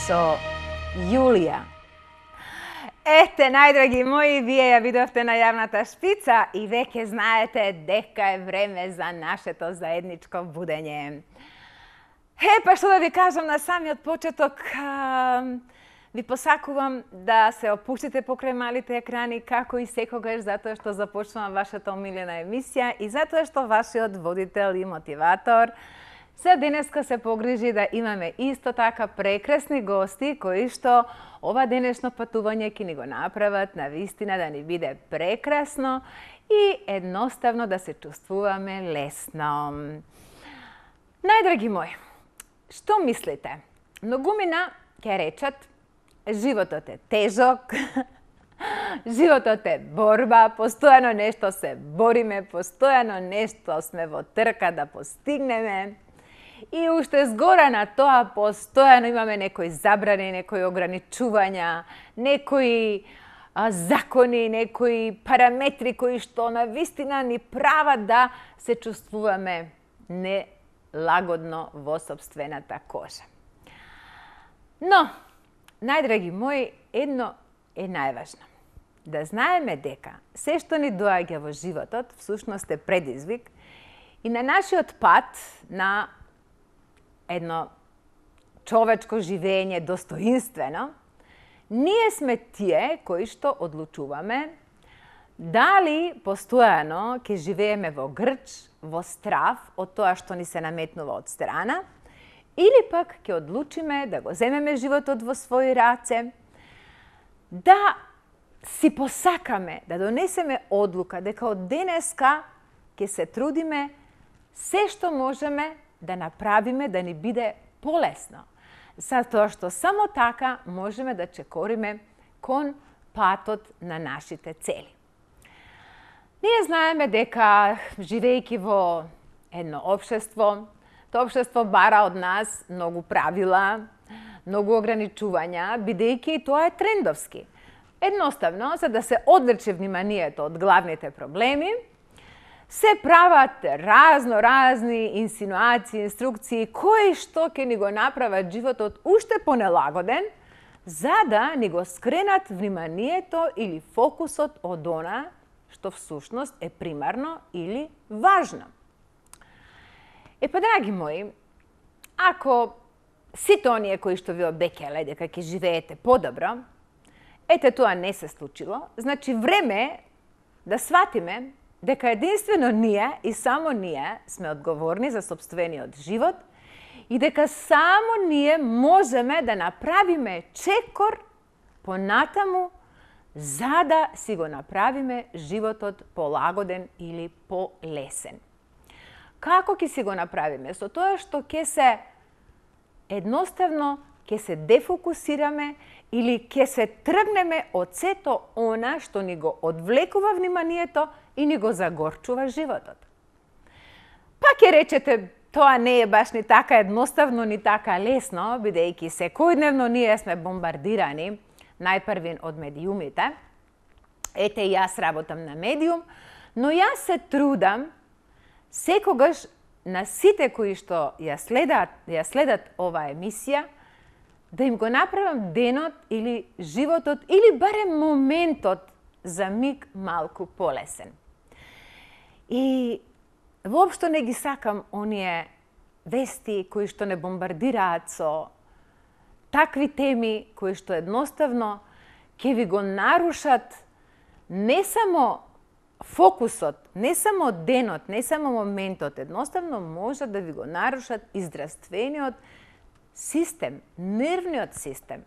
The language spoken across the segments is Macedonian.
со Јулија. Ете, најдраги мои, вие ја видовте најавната шпица и веќе знаете дека е време за нашето заедничко будење. Па што да ви кажам на самиот почеток, ви посакувам да се опуштите покрај малите екрани како и секогаш, затоа што започнува вашата омилена емисија и затоа што вашиот водител и мотиватор за денеска се погрижи да имаме исто така прекрасни гости кои што ова денешно патување ќе ни го направат на вистина да ни биде прекрасно и едноставно да се чувствуваме лесно. Најдраги мои, што мислите? Многумина ќе речат животот е тежок, животот е борба, постојано нешто се бориме, постојано нешто сме во трка да постигнеме. И уште згора на тоа, постојано имаме некои забрани, некои ограничувања, некои закони, некои параметри кои што на вистина ни прават да се чувствуваме нелагодно во сопствената кожа. Но, најдраги мои, едно е најважно. Да знаеме дека се што ни доаѓа во животот всушност е предизвик и на нашиот пат на едно човечко живење достоинствено, ние сме тие кои што одлучуваме дали постојано ќе живееме во грч, во страв од тоа што ни се наметнува од страна, или пак ќе одлучиме да го земеме животот во своји раце, да си посакаме, да донесеме одлука дека од денеска ќе се трудиме се што можеме да направиме да ни биде полесно, затоа што само така можеме да чекориме кон патот на нашите цели. Ние знаеме дека, живејќи во едно општество, тоа општество бара од нас многу правила, многу ограничувања, бидејќи тоа е трендовски. Едноставно, за да се одлече вниманието од главните проблеми, се прават разни инсинуации, инструкции, кои што ќе ни го направат животот уште понелагоден, за да ни го скренат вниманието или фокусот од она што всушност е примарно или важно. Па, драги мои, ако сите оние кои што ви обекеле дека ќе живеете подобро, ете тоа не се случило, значи време е да сватиме дека единствено ние и само ние сме одговорни за сопствениот живот и дека само ние можеме да направиме чекор понатаму за да си го направиме животот полагоден или полесен. Како ќе си го направиме? Со тоа што ќе се едноставно ќе се дефокусираме или ќе се тргнеме од сето она што ни го одвлекува вниманието и ни го загорчува животот. Па ќе речете, тоа не е баш ни така едноставно, ни така лесно, бидејќи секојдневно ние сме бомбардирани, најпрвин од медиумите. Ете, јас работам на медиум, но јас се трудам секогаш на сите кои што ја следат оваа емисија, да им го направам денот или животот или барем моментот за миг малку полесен. И воопшто не ги сакам оние вести кои што не бомбардираат со такви теми кои што едноставно ќе ви го нарушат не само фокусот, не само денот, не само моментот, едноставно може да ви го нарушат и здравствениот систем, нервниот систем.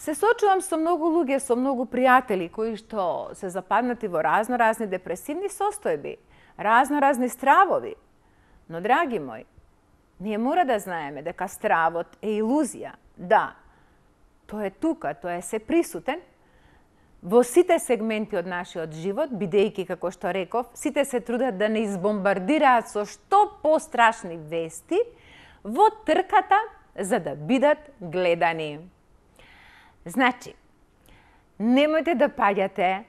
Се сочувам со многу луѓе, со многу пријатели кои што се западнати во разни депресивни состојби, разни стравови. Но, драги мои, ние мора да знаеме дека стравот е илузија. Да, тој е тука, тој е се присутен во сите сегменти од нашиот живот, бидејќи, како што реков, сите се трудат да не избомбардираат со што пострашни вести во трката за да бидат гледани. Значи, немојте да паѓате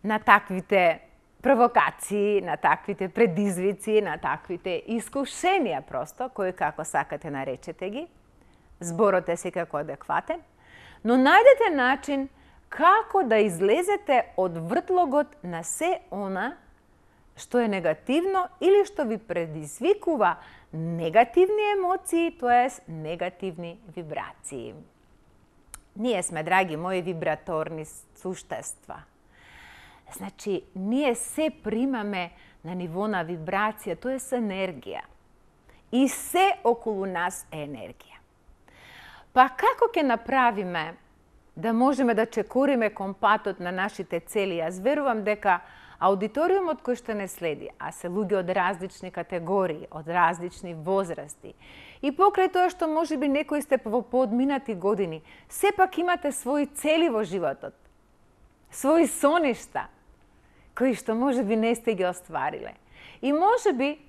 на таквите провокации, на таквите предизвици, на таквите искушенија просто, кои како сакате наречете ги, зборот е секако адекватен, но најдете начин како да излезете од вртлогот на се она што е негативно или што ви предизвикува негативни емоции, тоест негативни вибрации. Ние сме, драги мои, вибраторни суштества. Значи, ние се примаме на ниво на вибрација, тоа е енергија. И се околу нас е енергија. Па како ќе направиме да можеме да чекориме компатот на нашите цели? Јас верувам дека аудиториумот кој што не следи, а се луѓе од различни категории, од различни возрасти, и покрај тоа што можеби некои сте во поодминати години, сепак имате своји цели во животот, своји соништа, кои што можеби не сте ги оствариле. И можеби,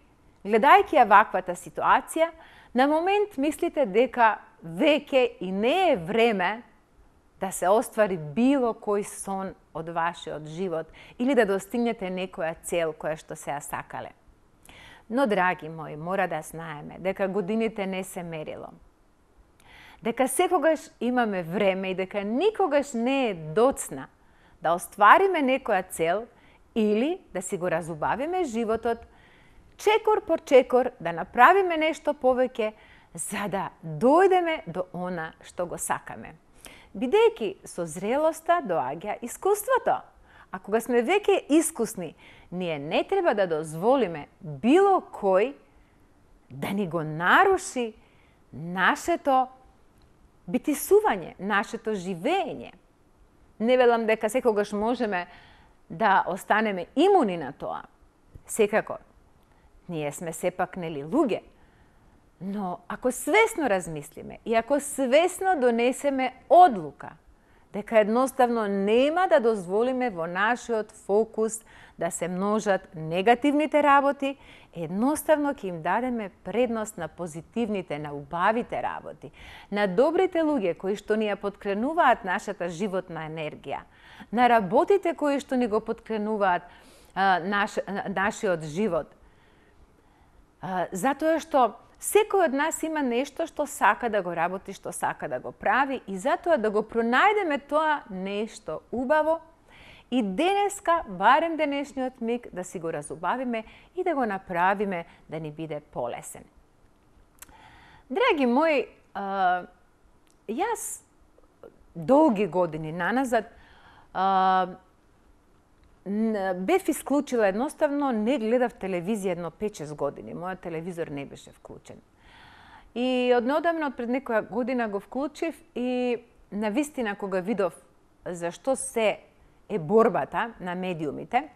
гледајќи ја ваквата ситуација, на момент мислите дека веќе и не е време да се оствари било кој сон од вашиот живот или да достигнете некоја цел која што се ја сакале. Но, драги мои, мора да знаеме дека годините не се мерило. Дека секогаш имаме време и дека никогаш не е доцна да оствариме некоја цел или да си го разубавиме животот, чекор по чекор да направиме нешто повеќе за да дојдеме до она што го сакаме. Бидејќи со зрелоста доаѓа искуството. А кога сме веќе искусни, ние не треба да дозволиме било кој да ни го наруши нашето битисување, нашето живење. Не велам дека секогаш можеме да останеме имуни на тоа. Секако, ние сме сепак нели луѓе. Но ако свесно размислиме и ако свесно донесеме одлука дека едноставно нема да дозволиме во нашиот фокус да се множат негативните работи, едноставно ќе им дадеме предност на позитивните, на убавите работи, на добрите луѓе кои што ни ја поткренуваат нашата животна енергија, на работите кои што ни го поткренуваат нашиот живот. Затоа што секој од нас има нешто што сака да го работи, што сака да го прави и затоа да го пронајдеме тоа нешто убаво и денеска, барем денешниот миг, да си го разубавиме и да го направиме да ни биде полесен. Драги мои, јас долги години наназад бев исклучила, едноставно не гледав телевизија едно 5-6 години. Мојот телевизор не беше вклучен. И однеодамна, од пред некоја година го вклучив и навистина кога видов зашто се е борбата на медиумите,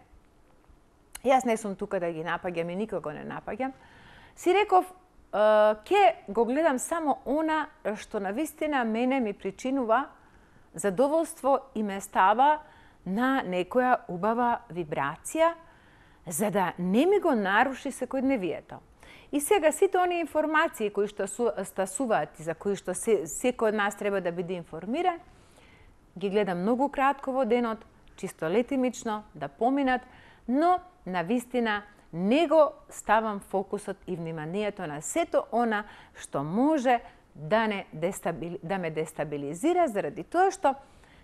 јас не сум тука да ги напаѓам и никого не напаѓам, си реков, ќе го гледам само она што навистина мене ми причинува задоволство и ме става на некоја убава вибрација, за да не ми го наруши секојдневието. И сега сите оние информации кои што стасуваат и за кои што секој од нас треба да биде информиран, ги гледам многу кратко во денот, чисто летимично, да поминат, но навистина не го ставам фокусот и вниманието на сето она што може да ме дестабилизира, заради тоа што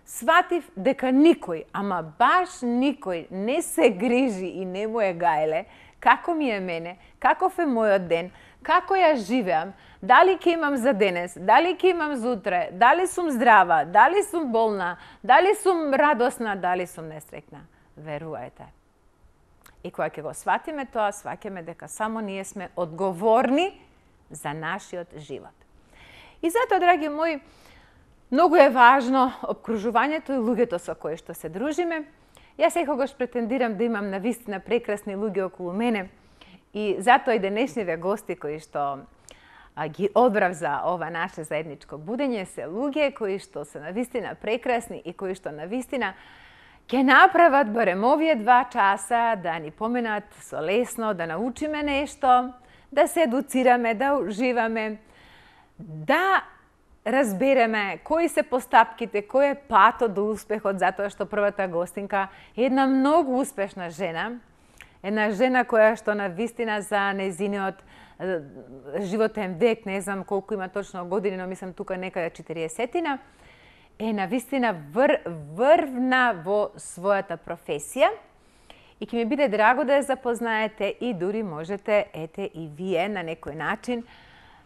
сватив дека никој, ама баш никој не се грижи и не му е гајле како ми е мене, каков е мојот ден, како ја живеам, дали ќе имам за денес, дали ќе имам за утре, дали сум здрава, дали сум болна, дали сум радосна, дали сум несреќна. Верувајте. И кога ќе го сватиме тоа, сваќаме дека само ние сме одговорни за нашиот живот. И затоа, драги мои, многу е важно обкружувањето и луѓето со кои што се дружиме. Јас секогаш претендирам да имам навистина прекрасни луѓе околу мене и затоа и денешниве гости кои што ги одбрав за ова наше заедничко будење се луѓе кои што се навистина прекрасни и кои што навистина ќе направат барем овие 2 часа да ни поменат со лесно, да научиме нешто, да се едуцираме, да уживаме, да разбереме кои се постапките, кој е патот до успехот, затоа што првата гостинка е една многу успешна жена една жена која што на вистина за нејзиниот животен век, не знам колку има точно години, но мислам тука некаде 40-тина, на вистина врвна во својата професија и ќе ми биде драго да ја запознаете и дури можете, ете и вие на некој начин,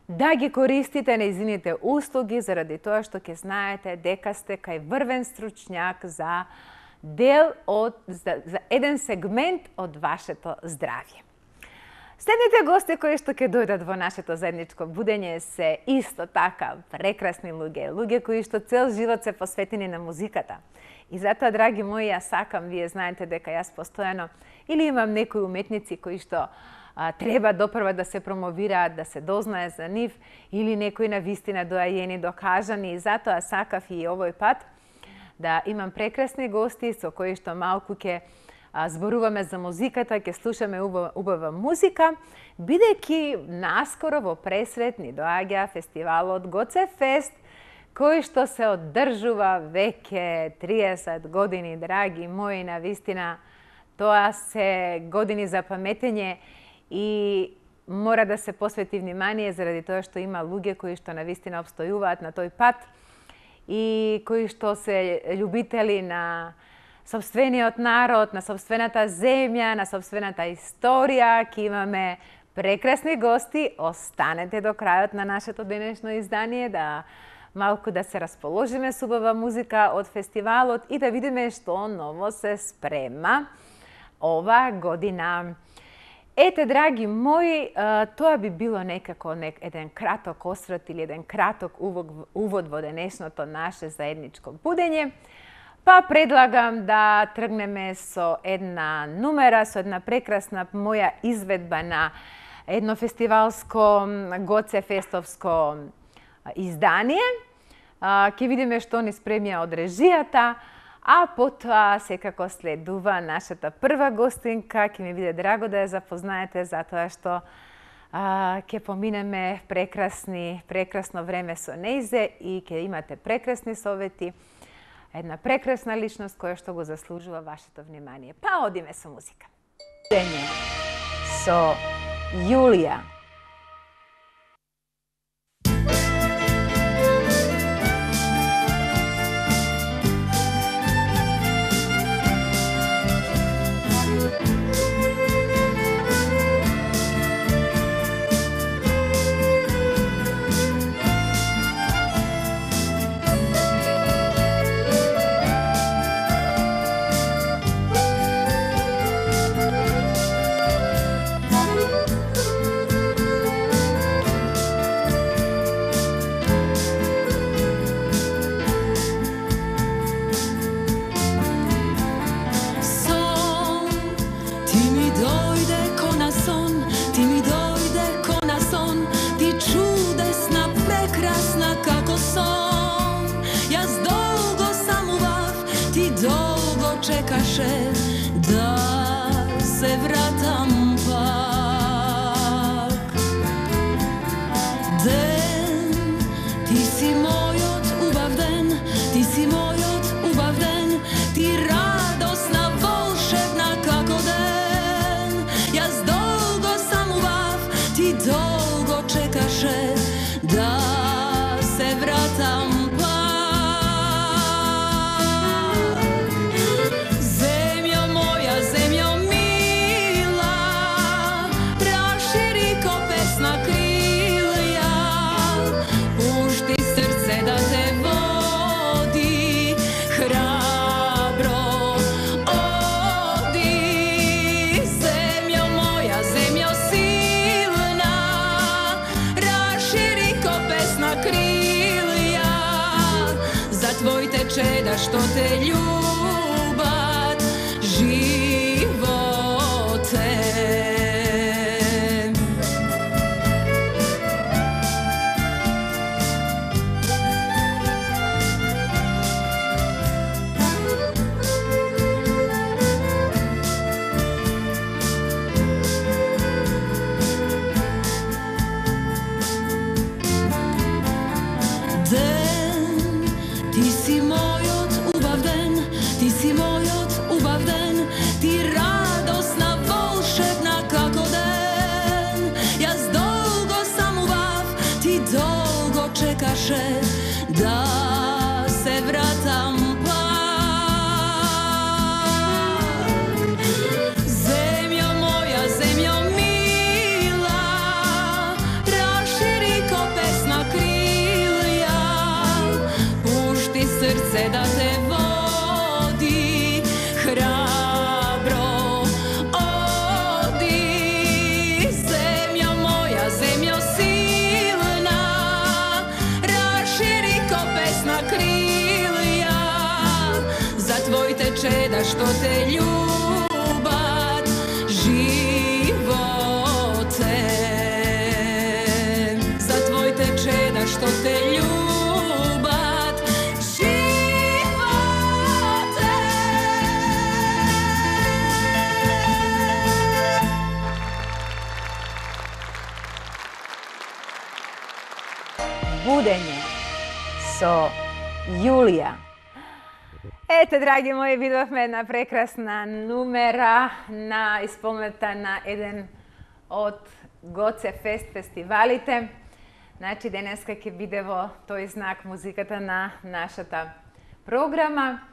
да ги користите нејзините услуги заради тоа што ќе знаете дека сте кај врвен стручњак за еден сегмент од вашето здравје. Следните гости кои што ќе дојдат во нашето заедничко будење се исто така прекрасни луѓе кои што цел живот се посветени на музиката. И затоа, драги мои, ја сакам, вие знаете дека јас постојано или имам некои уметници кои што треба допрва да се промовираат, да се дознае за нив, или некои на вистина доајени, докажани, и затоа сакав и овој пат да имам прекрасни гости со кои што малку ќе зборуваме за музиката, ќе слушаме убава музика, бидејќи наскоро во Пресвет ни доаѓа фестивалот Гоцефест, кој што се одржува веќе 30 години, драги мои, на вистина тоа се години за паметење и мора да се посвети внимание заради тоа што има луѓе кои што на вистина обстојуваат на тој пат и кои што се љубители на сопствениот народ, на сопствената земја, на сопствената историја. Ке имаме прекрасни гости. Останете до крајот на нашето денешно издание да малку да се расположиме со убава музика од фестивалот и да видиме што ново се спрема ова година. Ете, драги мои, тоа би било некако еден краток осврт или еден краток увод во денешното наше заедничко будење. Па предлагам да тргнеме со една нумера, со една прекрасна моја изведба на едно фестивалско Гоцефестовско издание. Ќе видиме што ни спремија од режијата, а потоа секако следува нашата прва гостинка. Ќе ми биде драго да ја запознаете затоа што ќе поминеме прекрасно време со нејзе и ќе имате прекрасни совети. Една прекрасна личност која што го заслужува вашето внимание. Па одиме со музика. Со Јулија. Da se vratam pak. Den, ti si moj od ubav den, ti si moj od ubav den, ti radosna, volšebna kako den. Jaz dolgo sam ubav, ti dolgo čekaše da se vratam pak. Da što te ljubat živote. Ti si moj od ubav den, ti si moj od ubav den, ti radosna, volšebna со Јулија. Ете, драги мои, видовме една прекрасна numera на исполнета на еден од Гоце Фест фестивалите. Значи, денеска ќе биде во тој знак музиката на нашата програма,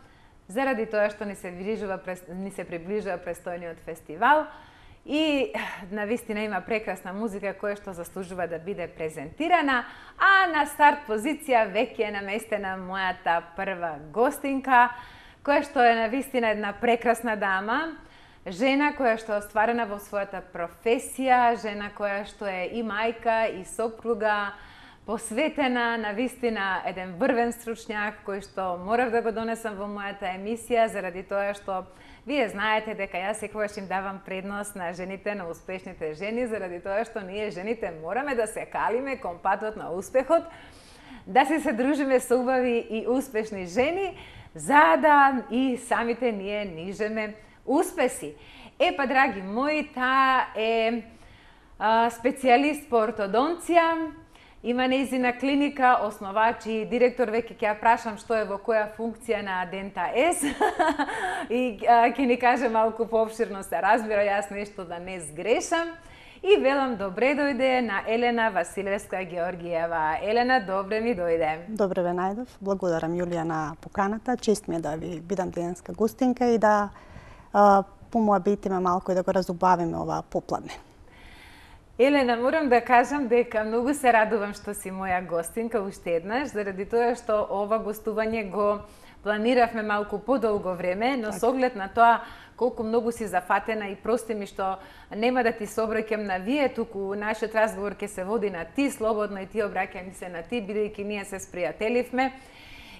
заради тоа што ни се приближува престојниот фестивал и навистина има прекрасна музика која што заслужува да биде презентирана, а на старт позиција веќе е наместена мојата прва гостинка, која што е навистина една прекрасна дама, жена која што е остварена во својата професија, жена која што е и мајка, и сопруга, посветена навистина еден врвен стручњак кој што морав да го донесам во мојата емисија, заради тоа што вие знаете дека јас секогаш им давам предност на жените, на успешните жени, заради тоа што ние жените мораме да се калиме кон патот на успехот, да се дружиме со убави и успешни жени, за да и самите ние нижеме успеси. Па, драги мои, таа е специјалист по ортодонција, има нејзина клиника, основач и директор, веќе ќе ја прашам што е во која функција на Дента С и ќе ни каже малку поопширно се разбира, јас нешто да не сгрешам. И велам добре дојде на Елена Василевска Георгиева. Елена, добре ми дојде. Добре ве најдов. Благодарам, Јулија, на поканата. Чест ми е да ви бидам денеска гостинка и да помоабитиме малку и да го разубавиме ова попладне. Елена, морам да кажам дека многу се радувам што си моја гостинка уште еднаш, заради тоа што ова гостување го планиравме малку подолго време, но со оглед на тоа колку многу си зафатена и прости ми што нема да ти се обраќам на вие, туку нашиот разговор ќе се води на ти, слободно и ти обраќам се на ти, бидејќи ние се спријателивме.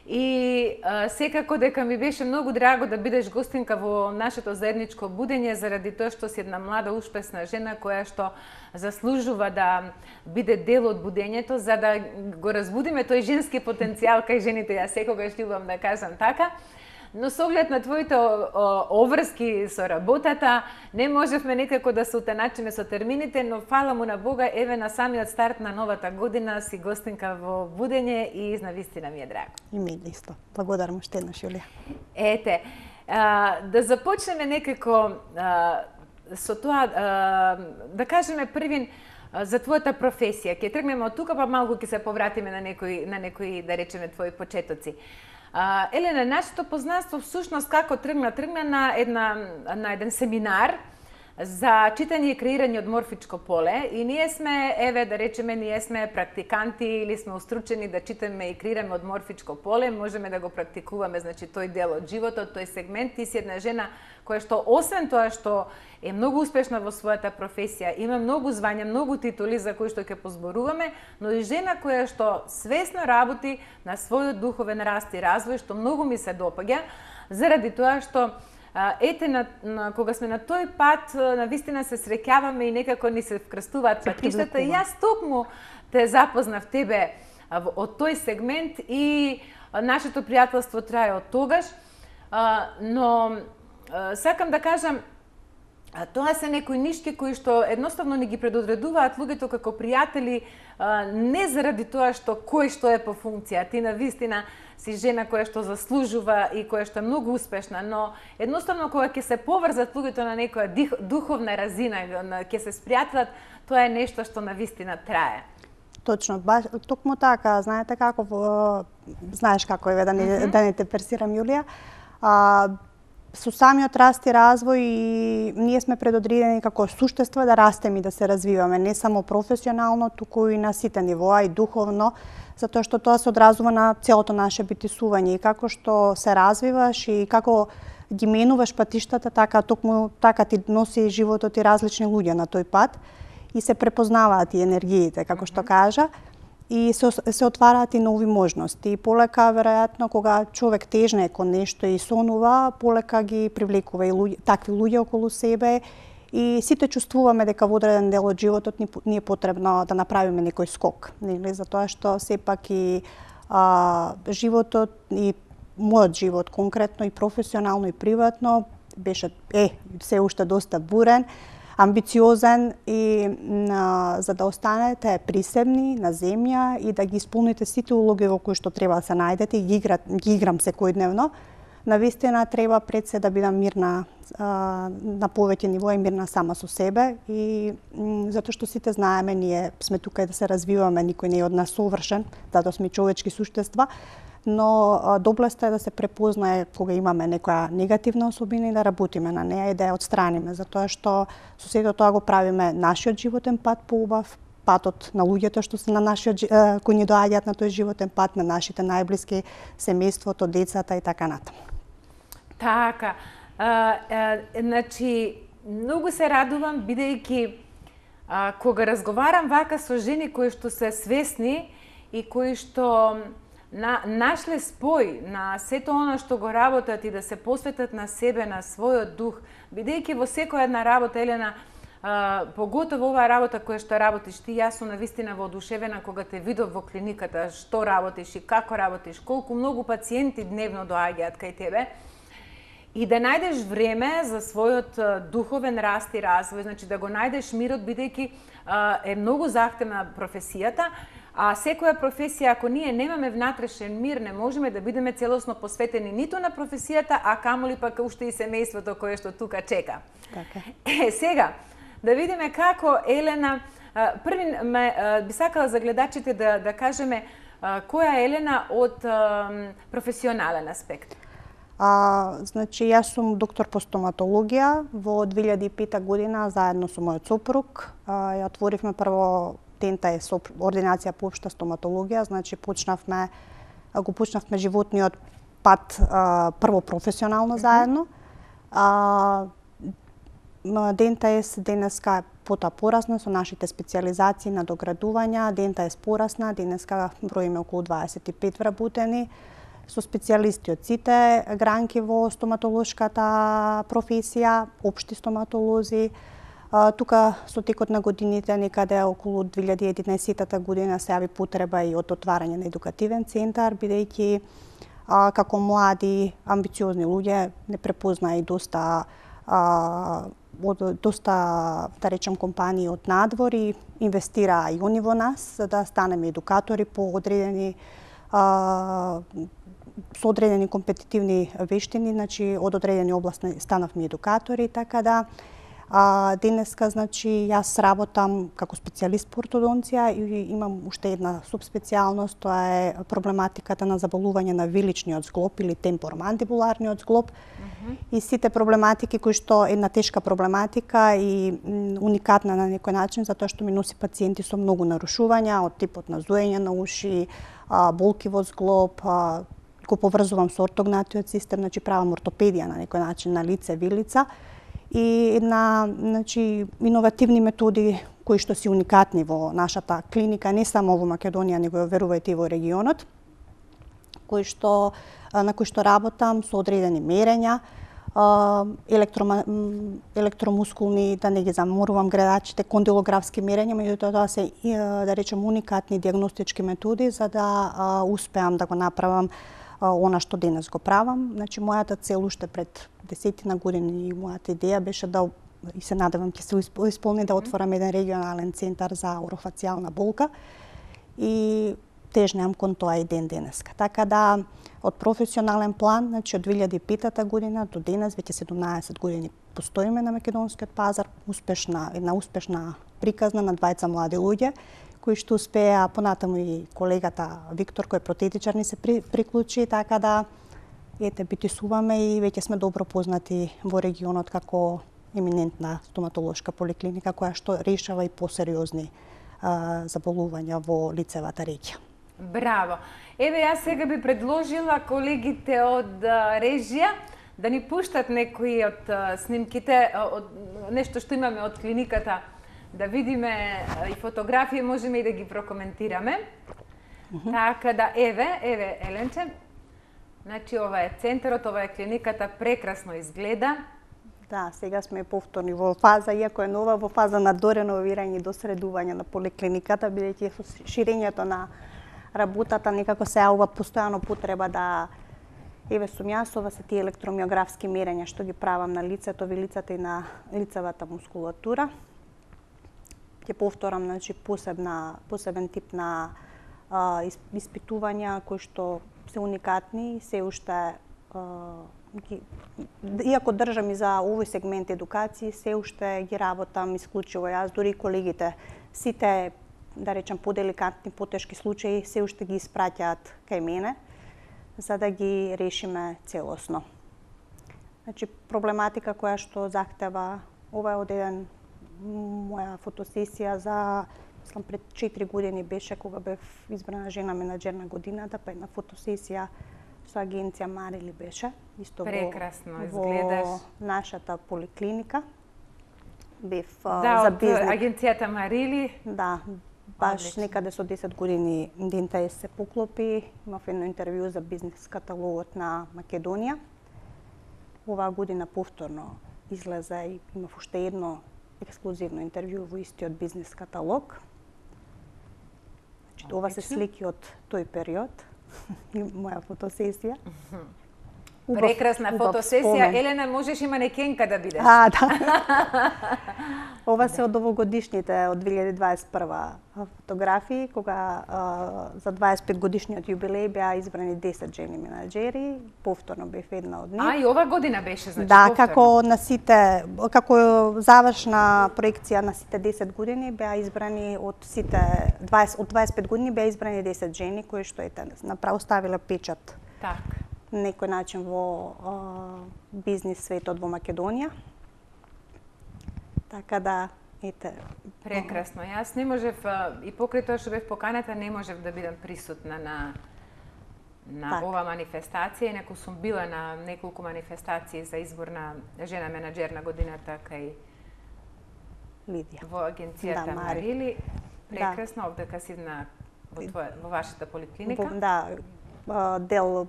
И секако дека ми беше многу драго да бидеш гостинка во нашето заедничко будење, заради тоа што си една млада, успешна жена која што заслужува да биде дел од будењето, за да го разбудиме тој женски потенцијал кај жените, јас секогаш љубам да кажам така. Но со оглед на твоите обврски со работата, не можевме некако да се утеначиме со термините, но фала му на Бога, еве на самиот старт на новата година си гостинка во будење и навистина ми е драго. И ми исто. Благодарам уште еднаш, Јулија. Ете, да започнеме некако со тоа, да кажеме првин за твојата професија. Ќе тргнеме од тука, па малку ќе се повратиме на некои, да речеме, твои почетоци. Елена, нашето познанство всушност како тргна на еден семинар за читање и креирање од морфичко поле и ние сме, еве да речеме, ние сме практиканти или сме устручени да читаме и креираме од морфичко поле, можеме да го практикуваме, значи тој дел од животот, тој сегмент. Ти си една жена која што освен тоа што е многу успешна во својата професија, има многу звања, многу титули за кои што ќе позборуваме, но и жена која што свесно работи на својот духовен раст и развој, што многу ми се допаѓа, заради тоа што ете, кога сме на тој пат, навистина се среќаваме и некако ни се вкрстуваат патиштата. И јас токму те запознав тебе од тој сегмент и нашето пријателство трае од тогаш, но сакам да кажам, тоа се некои нишки кои што едноставно ни ги предодредуваат луѓето како пријатели, не заради тоа што кој што е по функција. Ти навистина си жена која што заслужува и која што е многу успешна, но едноставно кога ќе се поврзат луѓето на некоја духовна разина, ќе се спријателат, тоа е нешто што навистина трае. Точно, токму така, знаете како, знаеш како е да не те персирам, Јулија, со самиот раст и развој и ние сме предодредени како суштества да растеме и да се развиваме, не само професионално, туку и на сите нивоа и духовно, затоа што тоа се одразува на целото наше битисување и како што се развиваш и како ги менуваш патиштата, така токму така ти носи животот и различни луѓе на тој пат и се препознаваат и енергиите, како што кажа, и се отвараат и нови можности. И полека, веројатно, кога човек тежне кон нешто и сонува, полека ги привлекува и такви луѓе околу себе и сите чувствуваме дека во одреден дел од животот ни е потребно да направиме некој скок, нели, затоа што сепак и животот и мојот живот конкретно и професионално и приватно беше се уште доста бурен. амбициозен и за да останете присебни на земја и да ги исполните сите улоги во кои што треба да се најдете и ги играм секојдневно. Навистина треба пред се да бидам мирна на повеќе ниво и мирна сама со себе и затоа што сите знаеме, ние сме тука и да се развиваме, никој не е од нас совршен, затоа сме човечки суштества, но доблеста е да се препознае кога имаме некоја негативна особина и да работиме на неа и да ја отстраниме, затоа што со сето тоа го правиме нашиот животен пат поубав, патот на луѓето што се на нашиот кои ни доаѓаат на тој животен пат, на нашите најблиски, семејството, децата и така натаму. Така, значи, многу се радувам, бидејќи кога разговарам вака со жени кои што се свесни и кои што нашле спој на сето она што го работат и да се посветат на себе, на својот дух, бидејќи во секоја една работа, Елена, поготово оваа работа која што работиш ти, јас сум навистина воодушевена кога те видов во клиниката, што работиш и како работиш, колку многу пациенти дневно доаѓаат кај тебе, и да најдеш време за својот духовен раст и развој, значи да го најдеш мирот, бидејќи е многу захтевна професијата, а секоја професија, ако ние немаме внатрешен мир, не можеме да бидеме целосно посветени ниту на професијата, а камоли пак уште и семејството кое што тука чека. Така. Сега, да видиме како Елена, први би сакала за гледачите да кажеме која е Елена од професионален аспект. Значи, јас сум доктор по стоматологија. Во 2005 година, заедно со мојот сопруг, ја отворивме прво ДНТС, ординација по општа стоматологија. Значи, го почнавме животниот пат прво професионално заедно. ДНТС денеска потоа порасна со нашите специјализации на доградувања. ДНТС порасна, денеска броиме околу 25 вработени, со специјалисти од сите гранки во стоматолошката професија, општи стоматолози. Тука со текот на годините, некаде околу 2011 година, се јави потреба и од отварање на едукативен центар, бидејќи како млади, амбициозни луѓе не препознаа и доста да речем компании од надвор и инвестираа и они во нас за да станеме едукатори по одредени со одредени компетитивни вештини, значи од одредени области станавме едукатори, така да денеска, значи, јас работам како специјалист по ортодонција и имам уште една субспецијалност, тоа е проблематиката на заболување на виличниот зглоб или темпоромандибуларниот зглоб. И сите проблематики кои што една тешка проблематика и уникатна на некој начин, затоа што ми носи пациенти со многу нарушувања од типот на зоење на уши, болки во зглоб, го поврзувам со ортогнатиот систем, значи правам ортопедија на некој начин на лице, вилица и една, значи, иновативни методи кои што се уникатни во нашата клиника, не само во Македонија, него верувајте и во регионот, на кои што работам со одредени мерења, електромускулни, да не ги заморувам гледачите, кондилографски мерења, меѓутоа тоа се, да речем, уникатни диагностички методи за да успеам да го направам она што денес го правам. Значи, мојата цел уште пред 10 години и мојата идеја беше да, и се надевам ќе се исполни, да отворам еден регионален центар за орофацијална болка и тежнеам кон тоа и ден денеска. Така да, од професионален план, значи од 2005 година до денес, веќе 17 години постоиме на македонскиот пазар, една успешна приказна на двајца млади луѓе, кои што успеа, понатаму и колегата Виктор, кој е протетичар, ни се приклучи, така да битисуваме и веќе сме добро познати во регионот како еминентна стоматолошка поликлиника која што решава и посериозни заболувања во лицевата регија. Браво! Еве, јас сега би предложила колегите од режија да ни пуштат некои од снимките, нешто што имаме од клиниката, да видиме и фотографии, можеме и да ги прокоментираме. Така да, еве, Еленче. Значи, ова е центарот, ова е клиниката, прекрасно изгледа. Да, сега сме повторни во фаза, иако е нова, во фаза на дореновирање и досредување на поликлиниката, бидејќи со ширењето на работата некако се јавува постојано потреба да Еве сум јас, ова се тие електромиографски мерења што ги правам на лицето, вилицата и на лицевата мускулатура. Ќе повторам, значи, посебен тип на испитувања кои што се уникатни, се уште иако држам и за овој сегмент едукација, се уште ги работам исклучиво јас, дури и колегите. Сите, да речем, поделикатни, потешки случаи се уште ги испраќаат кај мене, за да ги решиме целосно. Значи, проблематика која што захтева, ова е од еден моја фотосесија за пред 4 години беше кога бев избрана жена менаџер на годината, па една фотосесија со агенција Марили беше, исто прекрасно изгледаш во нашата поликлиника. Бев да, за од бизнес. агенцијата Марили. Да, баш Одлично. некаде со 10 години ДНТС се поклопи. Имав едно интервју за бизнес каталогот на Македонија. Оваа година повторно излезе и имав уште едно ексклузивно интервју во истиот бизнес каталог. Значи, ова се слики од тој период. Моја фотосесија. Прекрасна фотосесија. Спомен. Елена, можеш и манекенка да бидеш. Да. Ова се од овогодишните, од 2021 фотографии, кога за 25 годишниот јубилеј беа избрани 10 жени менаџери, повторно бев една од нив. И ова година беше, значи, Да, повторно. како завршна проекција на сите 10 години беа избрани од 25 години беа избрани 10 жени кои што направо ставиле печат Так. на некој начин во бизнис светот во Македонија. Така да, ете. Прекрасно. Јас не можев, и покрај тоа што бев поканата, не можев да бидам присутна на ова манифестација, инаку сум била на неколку манифестации за избор на жена менаџер на годината кај Лидија. во агенцијата Да, Мари. Марили. Прекрасно, овдека си во вашата поликлиника. Да,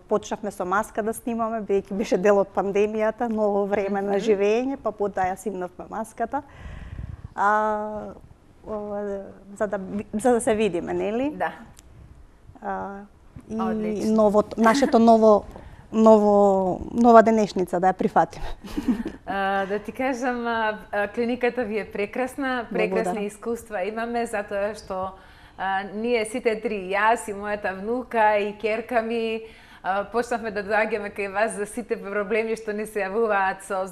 почнавме со маска да снимаме, бидејќи беше дел од пандемијата, ново време на живење, па потоа ја симнавме маската. За да се видиме, нели? Да. И Одлично. нашето нова денешница да ја прифатиме. Да ти кажам, клиниката ви е прекрасна, прекрасни искуства имаме, затоа што ние сите три, јас и мојата внука и ќерка ми, почнавме да доаѓаме кај вас за сите проблеми што ни се јавуваат со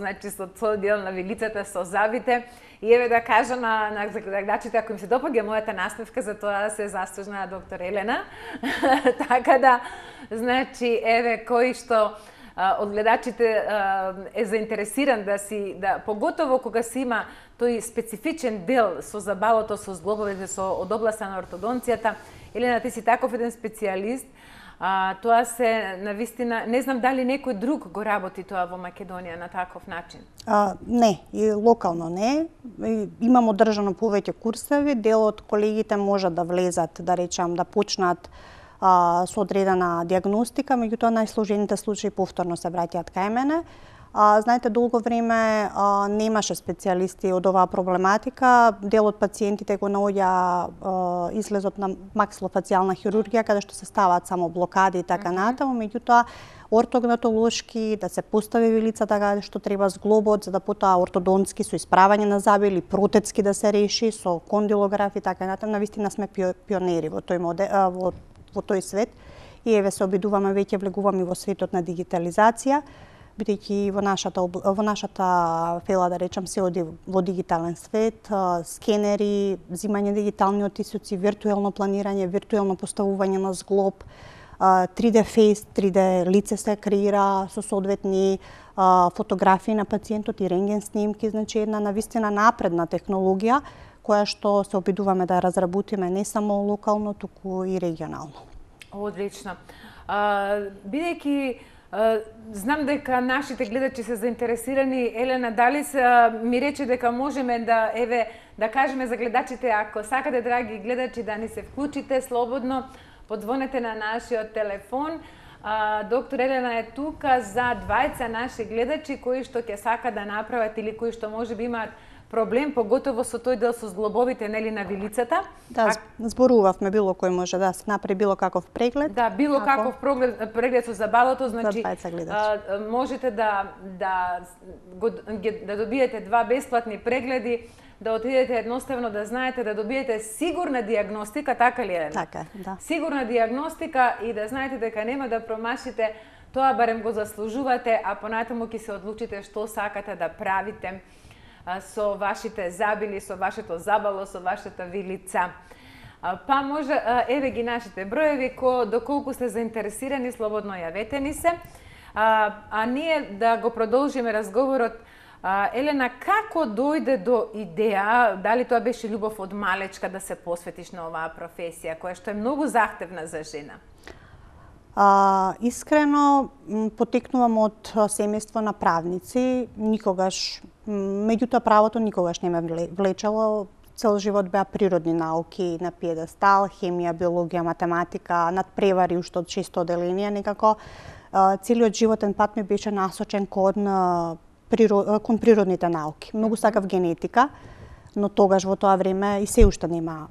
дел на вилицата, со забите. И еве да кажам на гледачите, ако им се допаѓа мојата насмевка, за тоа се заслужна доктор Елена. Така да, значи, еве кој што од гледачите е заинтересиран поготово кога се има тој специфичен дел со забавото, со зглобовите, од областа на ортодонцијата. Елена, ти си таков еден специјалист. Тоа се навистина, не знам дали некој друг го работи тоа во Македонија на таков начин. Не, и локално не. Имам одржано повеќе курсеви, дел од колегите можат да влезат, да речам, да почнат со одредена диагностика, меѓутоа најсложените случаи повторно се враќаат кај мене. Знаете, долго време немаше специјалисти од оваа проблематика. Дел од пациентите го наоѓа излезот на максилофацијална хирургија, каде што се ставаат само блокади и така натаму, меѓутоа ортогнатолошки, да се постави вилицата каде што треба зглобот, за да потоа ортодонски со исправање на заби или протецки да се реши, со кондилограф и така натаму. Навистина сме пионери во тој свет и еве се обидуваме, веќе влегуваме во светот на дигитализација, бидејќи во нашата фела, да речам, се оди во дигитален свет, скенери, взимање дигитални оттисоци, виртуелно планирање, виртуелно поставување на зглоб, 3D face, 3D лице се креира со соодветни фотографии на пациентот и рентген снимки, значи една навистина напредна технологија која што се обидуваме да разработиме не само локално, туку и регионално. Одлично. Бидејќи знам дека нашите гледачи се заинтересирани, Елена, дали ми рече дека можеме да кажеме за гледачите, ако сакате, драги гледачи, да ни се вклучите слободно, подзвонете на нашиот телефон. Доктор Елена е тука за двајца наши гледачи кои што ќе сака да направат или кои што можеби имаат проблем, поготово со тој дел со зглобовите, нели, на вилицата. Да, зборувавме било кој може да се направи било каков преглед. Да, било каков преглед со забалото, значи можете да добиете 2 бесплатни прегледи, да отидете едноставно да знаете, да добиете сигурна диагностика, така ли е? Така, да. Сигурна диагностика и да знаете дека нема да промашите, тоа барем го заслужувате, а понатаму ќе се одлучите што сакате да правите со вашите забили, со вашето забало, со вашата вилица. Па може, еве ги нашите броеви, доколку сте заинтересирани, слободно јавете ни се. А ние да го продолжиме разговорот. Елена, како дојде до идеја, дали тоа беше љубов од малечка да се посветиш на оваа професија, која што е многу захтевна за жена? Искрено, потекнувам од семејство на правници, никогаш, меѓутоа правото никогаш не ме влечело. Цел живот беа природни науки на пиедестал, хемија, биологија, математика, надпревари уште од 6 оделенија, некако целиот животен пат ми беше насочен кон природните науки. Многу сакав генетика, но тогаш во тоа време и се уште нема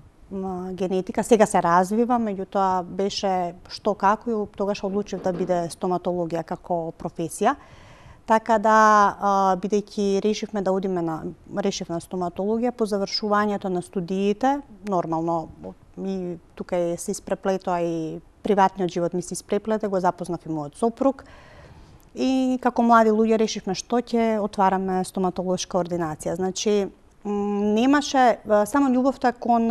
генетика. Сега се развива, меѓутоа беше што како и тогаш одлучив да биде стоматологија како професија. Така да, бидејќи решив на стоматологија, по завршувањето на студиите, нормално, и тука се испреплетоа и приватниот живот ми се испреплете, го запознав и мојот сопруг. И како млади луѓе решивме што ќе отвараме стоматолошка ординација. Значи, немаше само љубовта кон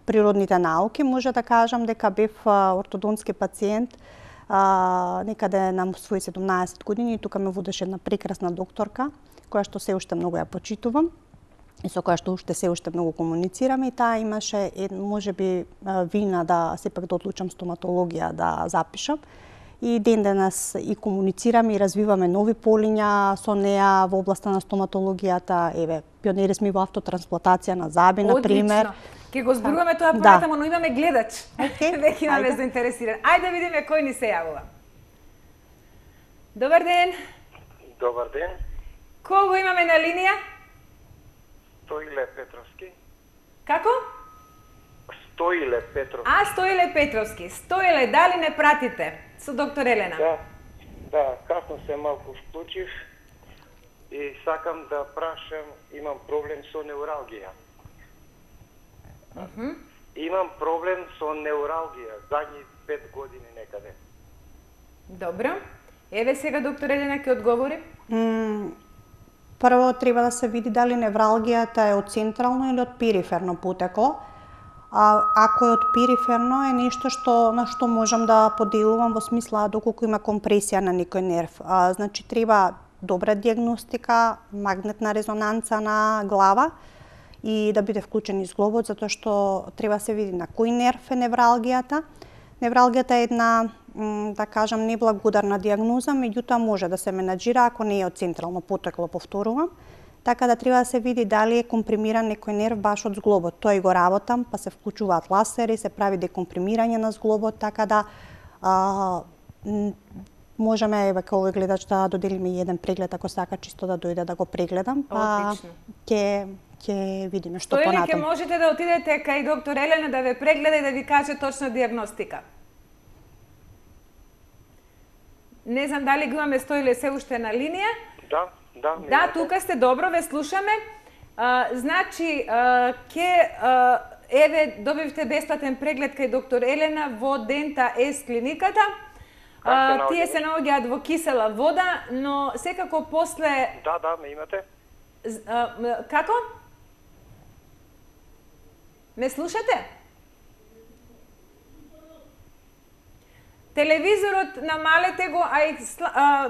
природните науки. Може да кажам дека бев ортодонтски пациент некаде на своји 17 години. Тука ме водеше една прекрасна докторка, која што се уште многу ја почитувам и со која што уште се уште многу комуницираме, и таа имаше можеби вина да сепак да одлучам стоматологија да запишам. И ден денес и комуницираме и развиваме нови полиња со неа во областа на стоматологијата. Еве, пионери сме во автотрансплантација на заби, на пример. Ке го зборуваме тоа понатаму, но имаме гледач. Веќе имаме заинтересиран. Ајде да видиме кој ни се јавува. Добар ден. Добар ден. Кого имаме на линија? Стоиле Петровски. Како? Стоиле Петровски. Стоиле Петровски. Стоиле, дали не пратите со доктор Елена? Да, касно се малку вклучив и сакам да прашам, имам проблем со неуралгија. Имам проблем со неуралгија, задни 5 години некаде. Добро. Еве сега доктор Елена ќе одговори. Прво треба да се види дали невралгијата е од централно или од периферно потекло. Ако е од периферно, е нешто на што можам да поделувам во смисла доколку има компресија на некој нерв. Значи треба добра диагностика, магнетна резонанца на глава и да биде вклучен и зглобот, затоа што треба да се види на кој нерв е невралгијата. Невралгијата е една, да кажам, неблагодарна диагноза, меѓутоа може да се менаџира ако не е од централно потекло, повторувам. Така да треба да се види дали е компримиран некој нерв баш од зглобот. Тоа и го работам, па се вклучуваат ласери, се прави декомпримирање на зглобот, така да можеме, еве, како овој гледач, да доделиме еден преглед, ако сака чисто да дојде да го прегледам, па ќе видиме што понатаму. Стоиле, ќе можете да отидете кај доктор Елена да ве прегледа и да ви каже точна диагностика. Не знам дали го имаме Стоиле се уште на линија. Да, тука сте, добро, ве слушаме. Значи, еве, добивте бесплатен преглед кај доктор Елена во Дента С клиниката. Тие се наоѓаат во кисела вода, но секако после... Да, ме имате. Како? Ме слушате? Телевизорот намалете го, а и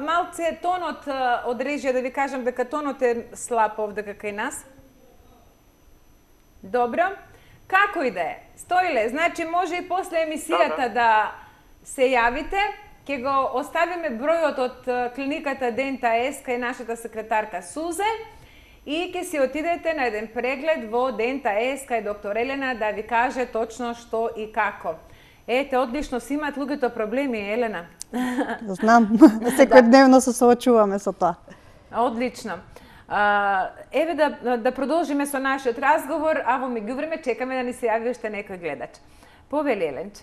малце тонот од режија, да ви кажам дека тонот е слаб овде кај нас. Добро. Како и да е? Стоиле, значи може и после емисијата да се јавите. Ќе го оставиме бројот од клиниката Дента С кај нашата секретарка Сузе и ќе си отидете на еден преглед во Дента С кај доктор Елена да ви каже точно што и како. Ете, одлично си имаат луѓето проблеми, Елена. Знам, секојдневно се соочуваме со тоа. Одлично. Еве да продолжиме со нашиот разговор, а во меѓувреме чекаме да ни се јави уште некој гледач. Повели, Еленче.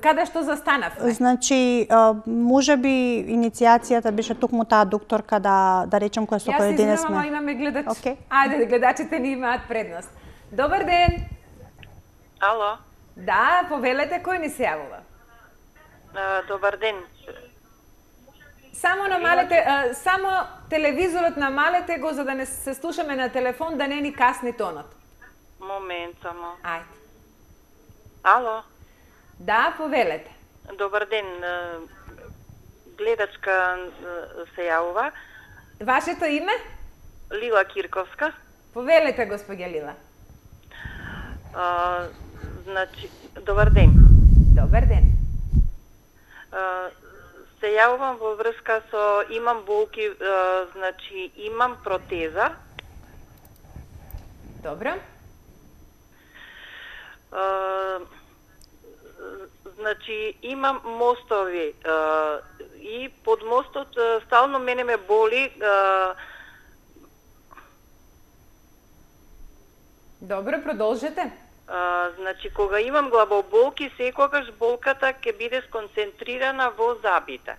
Каде што застанавме? Значи, можеби иницијацијата беше токму таа докторка да речем која со кој денес сме. Јас имаме гледач. Okay. Ајде, гледачите ни имаат предност. Добар ден. Ало. Да, повелете, кој ни се јавува? Добар ден. Само намалете, само телевизорот намалете го за да не се слушаме на телефон, да не ни касни тонот. Момент само. Ајде. Ало. Да, повелете. Добар ден. Гледачка се јавува. Вашето име? Лила Кирковска. Повелете, господја Лила. Значи, добар ден. Добар ден. Се јавувам во врска со имам болки, значи имам протеза. Добро. Значи имам мостови и под мостот стално мене ме боли. Добро, продолжете. Значи кога имам главоболки, секогаш болката ќе биде сконцентрирана во зъбите.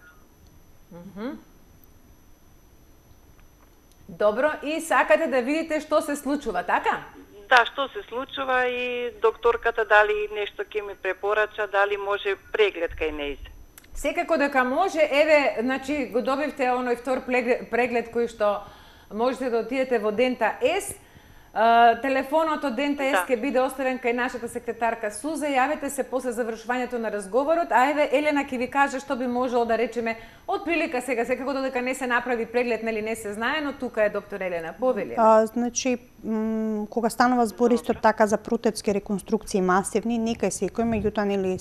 Добро, и сакате да видите што се случува, така? Да, што се случува и докторката дали нешто ќе ми препорача, дали може преглед кај нејзе. Секако дека може, еве, значи го добивте оној втор преглед кој што можете да отидете во Дента С. Телефонот од Дента С ќе биде оставен кај нашата секретарка Суза. Јавете се после завршувањето на разговорот, а еве Елена ќе ви каже што би можело да речеме од прилика сега, секако додека не се направи преглед, нели не се знае, но тука е доктор Елена. Повели. Значи, кога станува збор исто така за протетски реконструкции масивни, некај секој, меѓутоа нели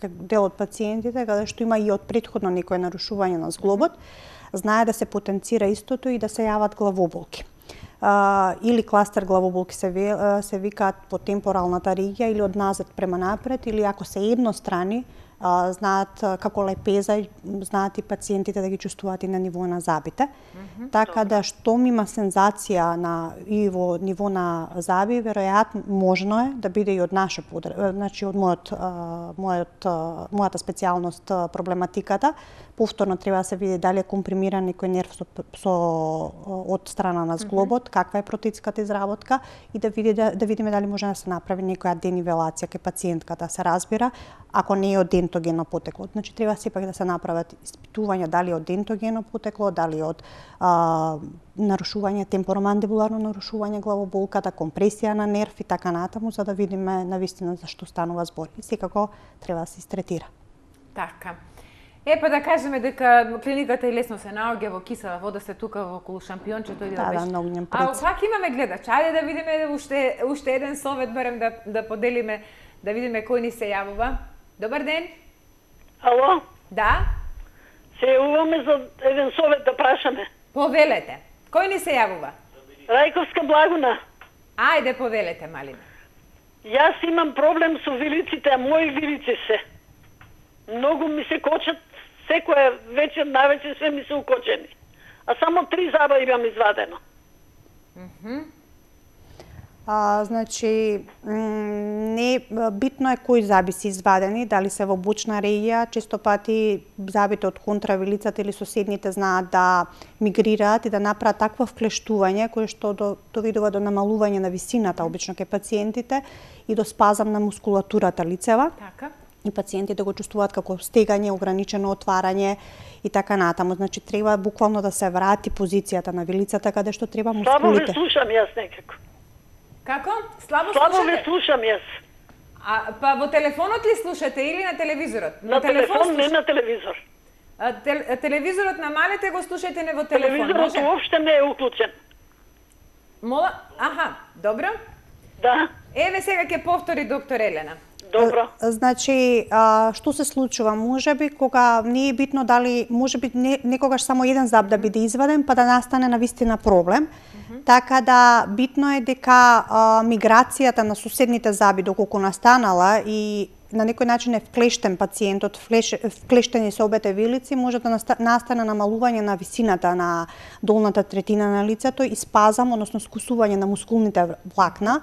дел од пациентите каде што има и од претходно некое нарушување на зглобот, знае да се потенцира истото и да се јават главоболки. Или кластер главоболки се викаат по темпоралната регија или од назад према напред, или ако се еднострани, знаат како лепеза, знаат и пациентите да ги чувствуваат и на ниво на зъбите. Така да штом има сензација и во ниво на зъби, веројатно можно е да биде и од наша значи од мојата специјалност проблематиката. Повторно треба да се види дали е компримиран некој нерв од страна на зглобот, каква е протетската изработка и да видиме дали може да се направи некоја денивелација кај пациентката, се разбира, ако не е од дентогено потекло. Значи треба сепак да се направат испитувања дали од дентогено потекло, дали од нарушување, темпоромандибуларно нарушување главоболката, компресија на нерв и така натаму, за да видиме навистина за што станува збор. И секако треба да се истретира. Така. Па да кажеме дека клиниката и лесно се наоѓа во кисела вода, сте тука во околу Шампиончето или да беше. Да, многу А пак имаме гледач. Ајде да видиме уште еден совет барем да поделиме, да видиме кој ни се јавува. Добар ден. Ало? Да? Се јавуваме за еден совет да прашаме. Повелете. Кој ни се јавува? Рајковска Благуна. Ајде повелете, Малина. Јас имам проблем со вилиците, а мои вилици се. Многу ми се кочат, секоја вечер, навечер све ми се укочени. А само 3 зъба имам извадено. Значи, не битно е кои зъби се извадени, дали се во бочна регија, често пати зъбите од контравилицата или соседните знаат да мигрираат и да направат такво вклештување кое што доведува до намалување на висината обично кај пациентите и до спазам на мускулатурата лицева. Така. И пациентите го чувствуваат како стегање, ограничено отварање и така натаму. Значи треба буквално да се врати позицијата на вилицата каде што треба мускулите. Слабо ве слушам јас некако. Како? Слабо Слабо ве слушам јас. Па во телефонот ли слушате или на телевизорот? На телефон, не на телевизор. Телевизорот намалете го, слушајте не во телефон. Телевизорот уопште не е уклучен. Мола? Аха, добро. Да. Еве сега ќе повтори доктор Елена. Добро. Значи, што се случува? Можеби кога не е битно дали, можеби некогаш само еден зъб да биде изваден, па да настане навистина проблем. Така да битно е дека миграцијата на соседните зъби доколку настанала и на некој начин е вклештен пациентот, вклештени се обете вилици, може да настане намалување на висината на долната третина на лицето и спазам, односно скусување на мускулните влакна.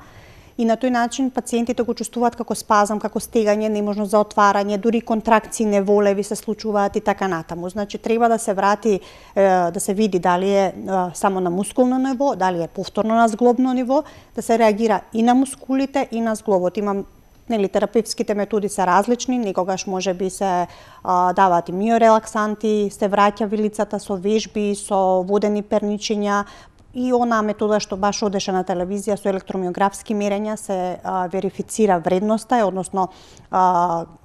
И на тој начин пациентите го чувствуваат како спазам, како стегање, неможност за отварање, дури контракции неволеви се случуваат и така натаму. Значи треба да се врати, да се види дали е само на мускулно ниво, дали е повторно на зглобно ниво, да се реагира и на мускулите и на зглобот. Имам терапевтските методи се различни, некогаш може би се даваат и миорелаксанти, се враќа вилицата со вежби, со водени перничиња, и она метода што баш одеше на телевизија со електромиографски мерења се верифицира вредноста, односно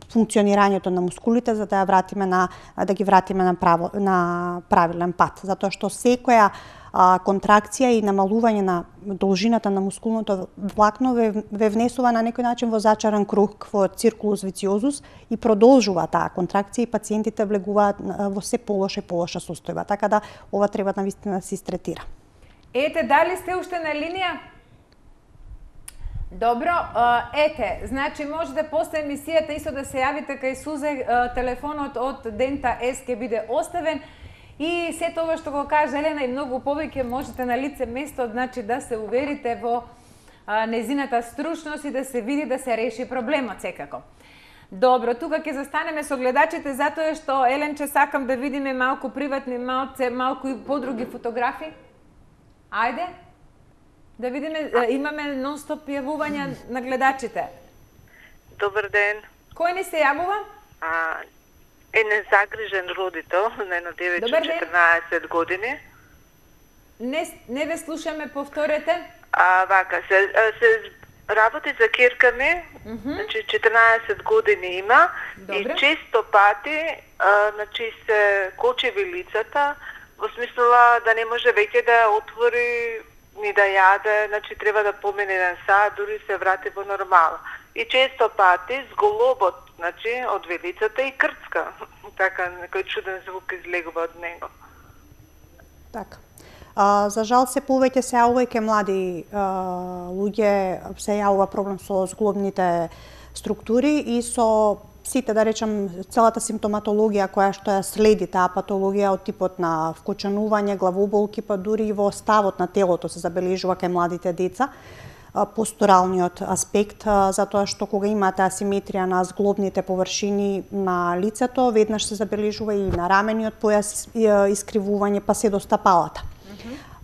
функционирањето на мускулите, за да ја вратиме да ги вратиме на правилен пат, затоа што секоја контракција и намалување на должината на мускулното влакно ве внесува на некој начин во зачаран круг, во циркулус вициозус и продолжува таа контракција и пациентите влегуваат во се полоша и полоша состојба, така да ова треба навистина да се истретира. Ете, дали сте уште на линија? Добро, ете, значи можете после емисијата исто да се јавите кај Сузе, телефонот од Дента С ќе биде оставен и се тоа што го кажа Елена и многу повеќе можете на лице место, значи да се уверите во незината стручност и да се види да се реши проблемот секако. Добро, тука ќе застанеме со гледачите затоа што Еленче сакам да видиме малку приватни, малку и подруги фотографии. Ајде, да видиме, имаме нон-стоп јавувања на гледачите. Добар ден. Кој ни се јавува? Е незагрижен родител на едно девојче 14 години. Не ве слушаме, повторете. Вака, се работи за керка ми, значи 14 години има. Добре. И често пати значи се кочи вилицата, во смисла да не може веќе да отвори ни да јаде, значи треба да помине еден сат, дури се врати во нормала. И често пати зголобот, значи од вилицата и крцка. Така некој чуден звук излегува од него. Така. За жал се повеќе се јавува и ке млади луѓе се јавува проблем со зглобните структури и со сите, да речем, целата симптоматологија која што ја следи таа патологија од типот на вкочанување, главоболки, па дури и во ставот на телото се забележува кај младите деца, постуралниот аспект, затоа што кога имате асиметрија на зглобните површини на лицето, веднаш се забележува и на рамениот појас искривување, па се до стапалата.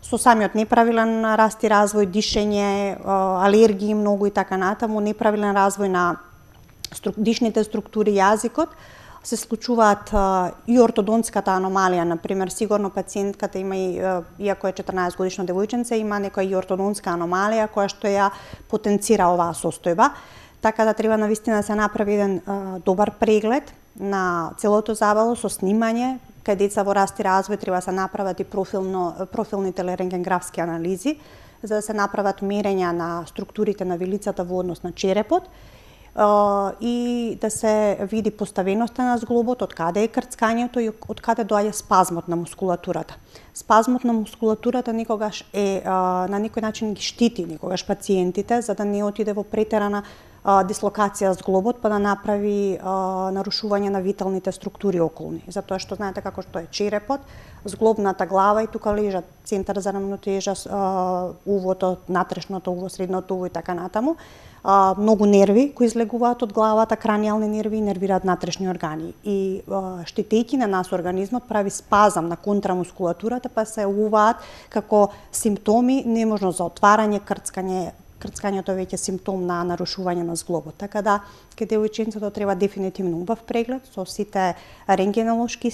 Со самиот неправилен раст и развој, дишење, алергии многу и така натаму, неправилен развој на дишните структури, јазикот, се случуваат и ортодонтската аномалија, например, сигурно пациентката има и, иако е 14 годишно девојченце, има некоја и ортодонтска аномалија која што ја потенцира оваа состојба, така да треба навистина да се направи еден добар преглед на целото забало со снимање, кај деца во раст и развој треба да се направат и профилни телерентгенграфски анализи, за да се направат мерења на структурите на вилицата во однос на черепот, и да се види поставеноста на зглобот, од каде е крцкањето и од каде доаѓа спазмот на мускулатурата. Спазмот на мускулатурата никогаш е на некој начин ги штити никогаш пациентите за да не отиде во претерана дислокација зглобот, па да направи нарушување на виталните структури околни. Затоа што знаете како што е черепот, зглобната глава и тука лежат центар за рамнотежа, увото, натрешното уво, средното уво и така натаму. Многу нерви кои излегуваат од главата, кранијални нерви и нервираат натрешни органи. И штетејќи на нас организмот прави спазам на контрамускулатурата, па се јавуваат како симптоми неможност за отварање, крцкањето веќе симптом на нарушување на зглобот. Така да, кај девојченцето треба дефинитивно убав преглед со сите рентгенолошки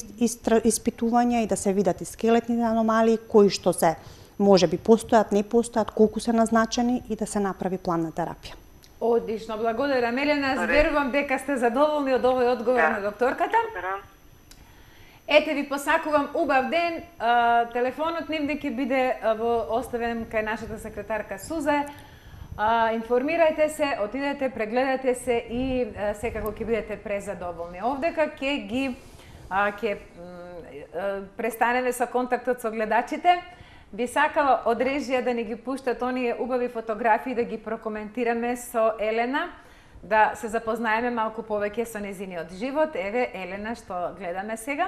испитувања и да се видат и скелетните аномалии, кои што се може би постојат, не постојат, колку се назначени и да се направи план на терапија. Одлично, благодарам Елена, верувам дека сте задоволни од овој одговор на докторката. Ете ви посакувам убав ден, телефонот ним ќе биде оставен кај нашата секретарка Сузе. Информирајте се, отидете, прегледате се и секако ќе бидете презадоволни. Овдека ќе престанеме со контактот со гледачите. Би сакала од режија да ни ги пуштат оние убави фотографии да ги прокоментираме со Елена, да се запознаеме малку повеќе со незиниот живот. Еве, Елена, што гледаме сега?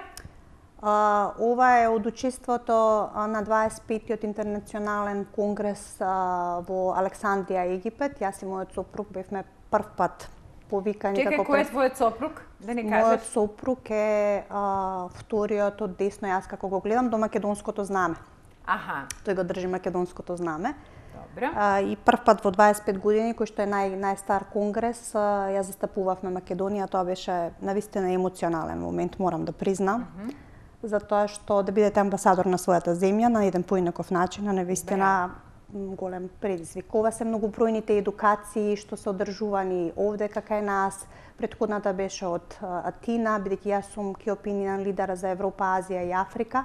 Ова е од учеството на 25-тиот интернационален конгрес во Александрија, Египет. Јас и мојот сопруг бевме прв пат повикани. Чекај, кој е твојот сопруг? Да ни кажеш. Мојот сопруг е вториот од десно, јас како го гледам, до македонското знаме. Аха. Тој го држи македонското знаме. Добро. И прв пат во 25 години, кој што е најстар конгрес, ја застапувавме Македонија. Тоа беше навистина емоционален момент, морам да признам. Затоа што да бидете амбасадор на својата земја на еден поинаков начин, на навистина голем предизвик. Ова се многобројните едукации што се одржувани овде кај нас. Претходната беше од Атина, бидејќи јас сум ки опинијан лидер за Европа, Азија и Африка,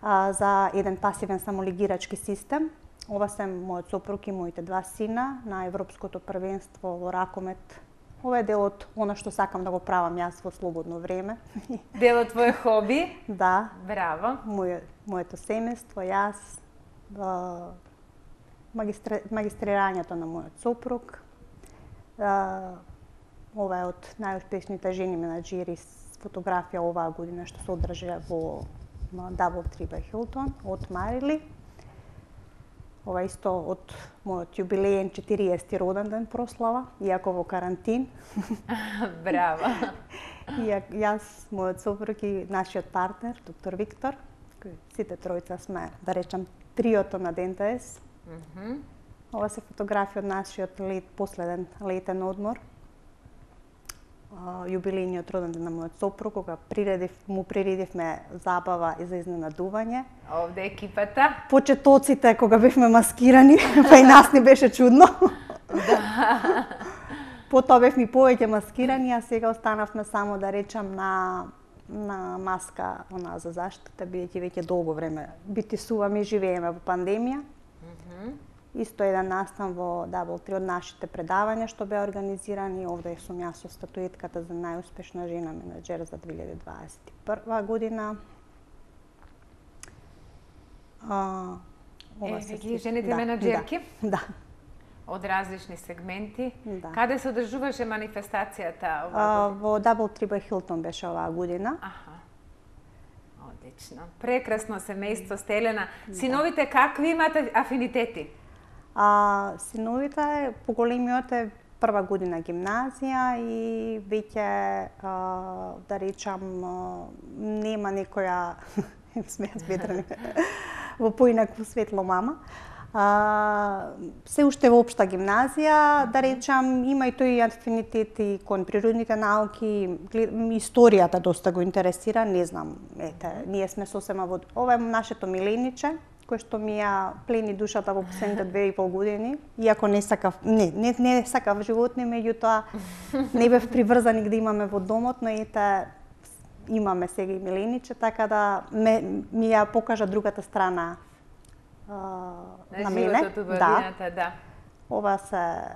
за еден пасивен самолигирачки систем. Ова се мојот сопруг и моите два сина на Европското првенство во ракомет. Ова е дел од она што сакам да го правам јас во слободно време. Дел од твој хоби? Да. Браво. Моето семејство, јас, магистрирањето на мојот сопруг. Ова е од најуспешните жени менаџери с фотографија оваа година што се одржа во DoubleTree by Hilton од Марили. Ова исто од мојот јубилеен 40-ти роден ден прослава, иако во карантин. Браво. Јас, мојот сопруг и нашиот партнер, доктор Виктор, кој сите тројца сме, да речам, триото на ДНТС. Ова се фотографија од нашиот последен летен одмор. Јубилејниот роден ден на мојот сопруг, кога му приредивме забава и за изненадување. Овде екипата. Почетоците кога бевме маскирани, па и нас не беше чудно. Да. Потоа бевме повеќе маскирани, а сега останавме само да речам на маска за заштита, бидејќи веќе долго време битисуваме и живееме во пандемија. Исто еден настан во DoubleTree од нашите предавања што беа организирани. Овде сум јас со статуетката за најуспешна жена менаџер за 2021 година. Ги жените менаџерки? Да. Од различни сегменти. Да. Каде се одржуваше манифестацијата оваа година? Во DoubleTree by Hilton беше оваа година. Аха. Одлично. Прекрасно семејство сте, Елена. Синовите какви имате афинитети? Синовите, поголемиот е прва година гимназија и веќе, да речам, нема некоја смејат ветрани во поинакво светло мама. Се уште во општа гимназија, да речам, има и тој афинитети кон природните науки, историјата доста го интересира, не знам, ние сме сосема во... Ова е нашето милениче, кој што ми ја плени душата во последните 2,5 години, иако не сакав животни, меѓутоа не бев приврзани да имаме во домот, но имаме сега и милениче, така да ми ја покажа другата страна на мене. Да. Ова се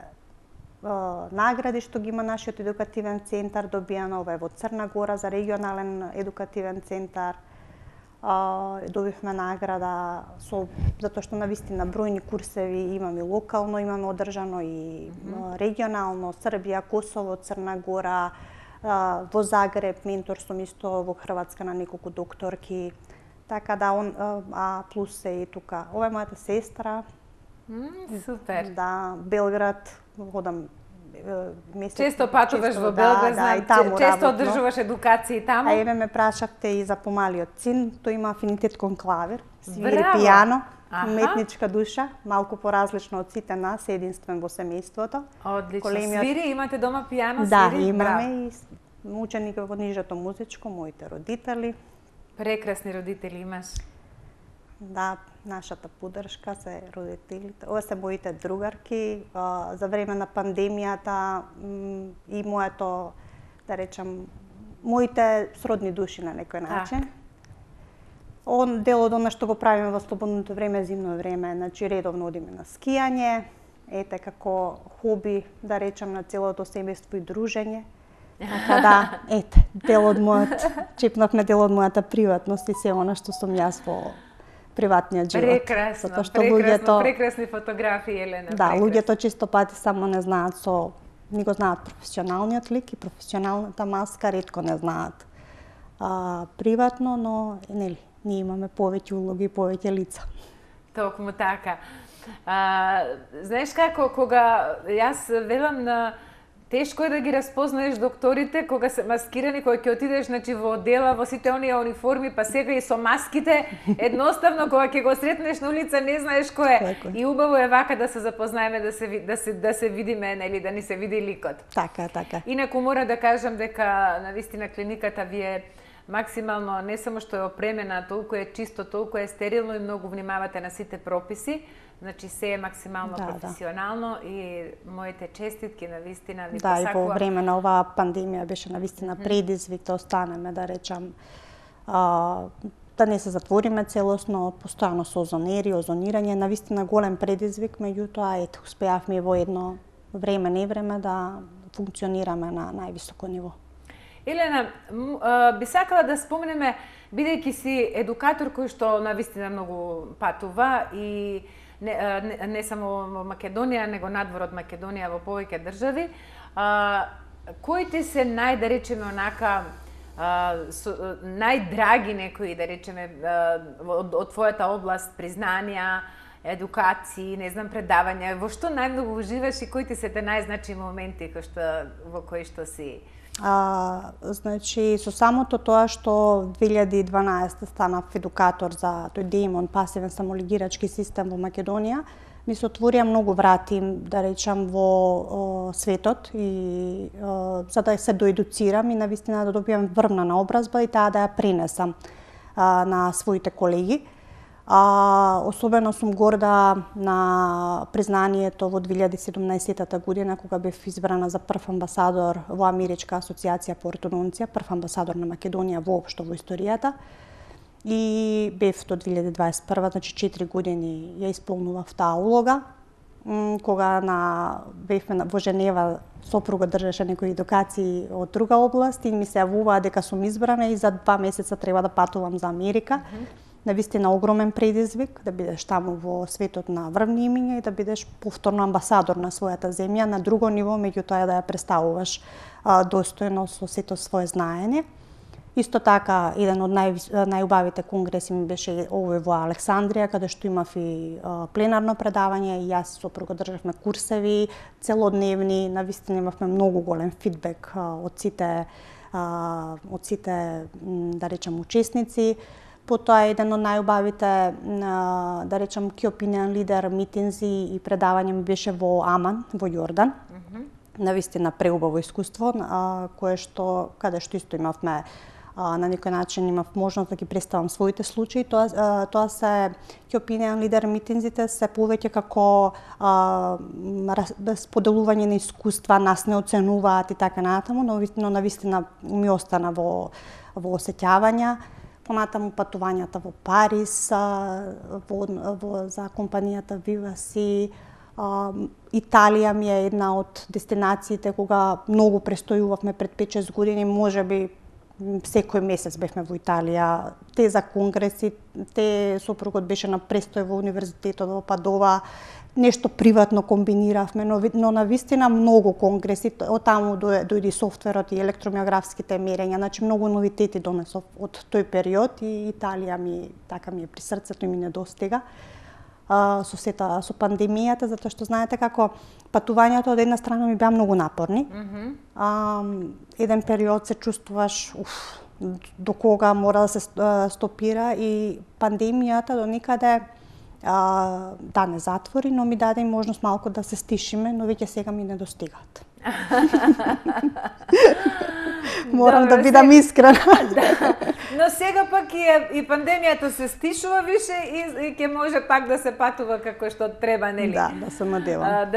награди што ги има нашиот едукативен центар, добијано ова е во Црна Гора за регионален едукативен центар. Добивме награда затоа што навистина бројни курсеви имаме локално, имаме одржано и регионално, Србија, Косово, Црна Гора, во Загреб, ментор сум исто во Хрватска на неколку докторки. Така да, плюс е и тука. Ова е мојата сестра. Супер. Да, Белград, ходам месец. Често патуваш во Белград, знаам, често одржуваш едукации таму. Еве ме прашавте и за помалиот син, тој има афинитет кон клавир, свири пијано, уметничка душа, малку поразлично од сите нас, единствен во семејството. Одлично. Свири, имате дома пијано, да, свири? Да, имаме и ученик во нижето музичко, моите родители. Прекрасни родители имаш. Да, нашата поддршка се родителите. Ова се моите другарки. За време на пандемијата и моето, да речам, моите сродни души на некој начин. Дел од она што го правиме во слободното време, зимно време, значи редовно одиме на скијање, ете како хоби, да речам, на целото семејство и дружење. Така да, ете, дел од чепнавме дел од мојата приватност и се она што сум јас во приватниот живот. Прекрасни фотографии, Елена. Да, луѓето често пати само не знаат со ни го знаат професионалниот лик и професионалната маска, ретко не знаат приватно, но нели, ние имаме повеќе улоги и повеќе лица. Токму така. Знаеш како, кога јас велам на тешко е да ги распознаеш докторите кога се маскирани, кога ќе отидеш во дела, во сите оние униформи, па сега и со маските, едноставно кога ќе го сретнеш на улица не знаеш кој е. И убаво е вака да се запознаеме, да се видиме, нели, да ни се види ликот. Така, така. Инаку мора да кажам дека навистина клиниката ви е максимално не само што е опремена, толку е чисто, толку е стерилно и многу внимавате на сите прописи. Значи се е максимално професионално и моите честитки навистина ви посакувам. Да, и по време на оваа пандемија беше навистина предизвик да останеме, да речам, да не се затвориме целосно, постојано со озонери, озонирање, навистина голем предизвик, меѓутоа ето успеавме во едно време невреме да функционираме на највисоко ниво. Елена, би сакала да споменеме, бидејќи си едукатор кој што навистина многу патува и не само во Македонија, него надвор од Македонија во повеќе држави, кои ти се да речеме онака најдраги некои, да речеме, од твојата област, признанија, едукации, не знам, предавања, во што најмногу уживаш и кои ти се те најзначими моменти во кои што си? Значи, со самото тоа што 2012 станав едукатор за тој ДЕИМОН, пасивен самолигирачки систем во Македонија, ми се отворија многу врати, да речам, во светот и за да се доедуцирам и навистина да добијам врвна наобразба и таа да ја пренесам на своите колеги. Особено сум горда на признанието во 2017 година, кога бев избрана за прв амбасадор во Америчка асоциација по ортодонција, прв амбасадор на Македонија воопшто во историјата. И бев до 2021, значи 4 години ја исполнував таа улога. Кога бевме во Женева, сопругот држеше некои едукации од друга област и ми се јавуваа дека сум избрана и за 2 месеца треба да патувам за Америка. Навистина огромен предизвик да бидеш таму во светот на врвни имиња и да бидеш повторно амбасадор на својата земја на друго ниво, меѓутоа да ја представуваш достојно со сето свое знаење. Исто така, еден од најубавите конгреси ми беше овој во Александрија, каде што имав и пленарно предавање и јас сопругот државме курсеви целодневни, навистина имавме многу голем фидбек од сите да речем учесници. Потоа еден од најубавите, да речем, Key Opinion Leader митинзи и предавање ми беше во Аман, во Јордан. Навистина преубаво искуство, каде што исто имавме на некој начин имав можност да ги представам своите случаи. Тоа се Key Opinion Leader митинзите се повеќе како споделување на искуства, нас не оценуваат и така натаму, но навистина ми остана во осеќавања. Понатаму патувањата во Париз, за компанијата Vivasi. Италија ми е една од дестинациите кога многу престојувавме пред 5-6 години, можеби секој месец бевме во Италија. Те за конгреси, сопругот беше на престој во универзитетот во Падова, нешто приватно комбиниравме, но навистина многу конгреси, од таму дојде софтверот и електромиографските мерења, значи многу новитети донесов од тој период и Италија ми е при срцето и ми недостига со пандемијата, затоа што знаете како патувањето од една страна ми беа многу напорни. Еден период се чувствуваш до кога мора да се стопира и пандемијата до никаде да не затвори, но ми даде можност малку да се стишиме, но веќе сега ми недостигаат. Морам да бидам искрена. Но сега пак и пандемијата се стишува више и ќе може пак да се патува како што треба, нели? Да се надевам.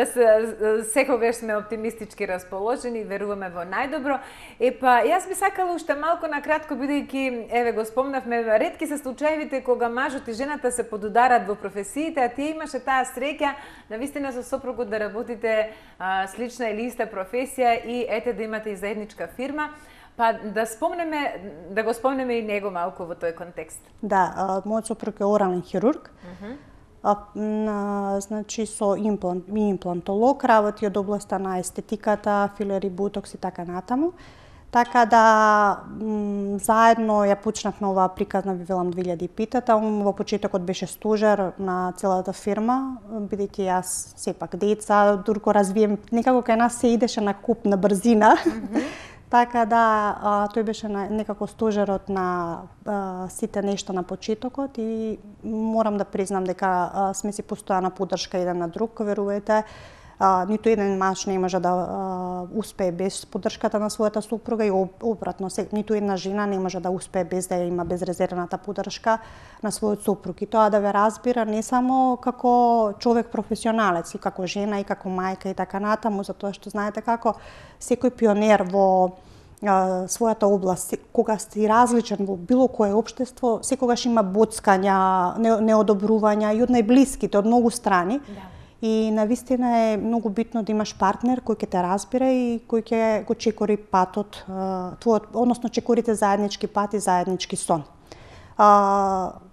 Секогаш сме оптимистички расположени, веруваме во најдобро. Јас би сакала уште малку накратко, бидејќи, еве го спомнавме, ретки се случаевите кога мажот и жената се подударат во професиите, а тие имаше таа среќа навистина со сопругот да работите слична или иста професија и ете да имате и заедничка фирма. Па да го спомнеме и него малку во тој контекст. Да, мојот сопруг е орален хирург. Значи со имплантолог, работи од областа на естетиката, филери, ботокс и така натаму. Така да заедно ја почнавме оваа приказна, ви велам 2005-та, во почетокот беше стожер на целата фирма, бидејќи јас сепак деца, дурко развием, некако кај нас се идеше на куп на брзина. Така да тој беше некако стожерот на сите нешта на почетокот и морам да признам дека сме си постојана поддршка еден на друг, верувате. Ниту еден маж не може да успее без поддршката на својата супруга и обратно, ниту една жена не може да успее без да има безрезервната поддршка на својот супруг. И тоа да ве разбира не само како човек професионалец, и како жена, и како мајка и така натаму, затоа што знаете како секој пионер во својата област, кога си различен во било кое општество, секогаш има боцкања, неодобрувања и од најблиските, од многу страни. Да. И навистина е многу битно да имаш партнер кој ќе те разбира и кој ќе го чекори патот, твојот, односно чекорите заеднички пат и заеднички сон.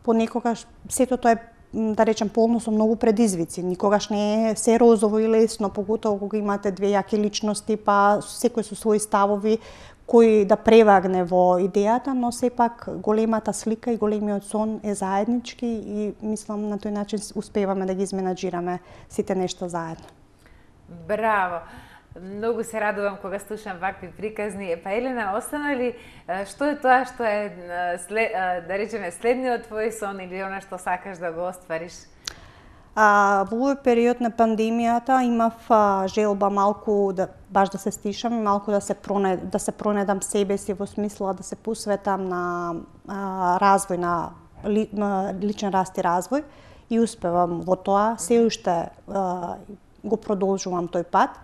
Понекогаш сето тоа е, да речем, полно со многу предизвици. Никогаш не е се розово и лесно, поготово кога имате две јаки личности, па секој со своји ставови, кој да превагне во идејата, но сепак големата слика и големиот сон е заеднички и мислам на тој начин успеваме да ги изменаџираме сите нешта заедно. Браво! Многу се радувам кога слушам вакви приказни. Па Елена, остана ли што е тоа што е да речеме следниот твој сон или она што сакаш да го оствариш? Во овој период на пандемијата имав желба малку баш да се стишам и малку да се пронедам себе си во смисла да се посветам на развој, на личен раст и развој и успевам во тоа. Се уште го продолжувам тој пат.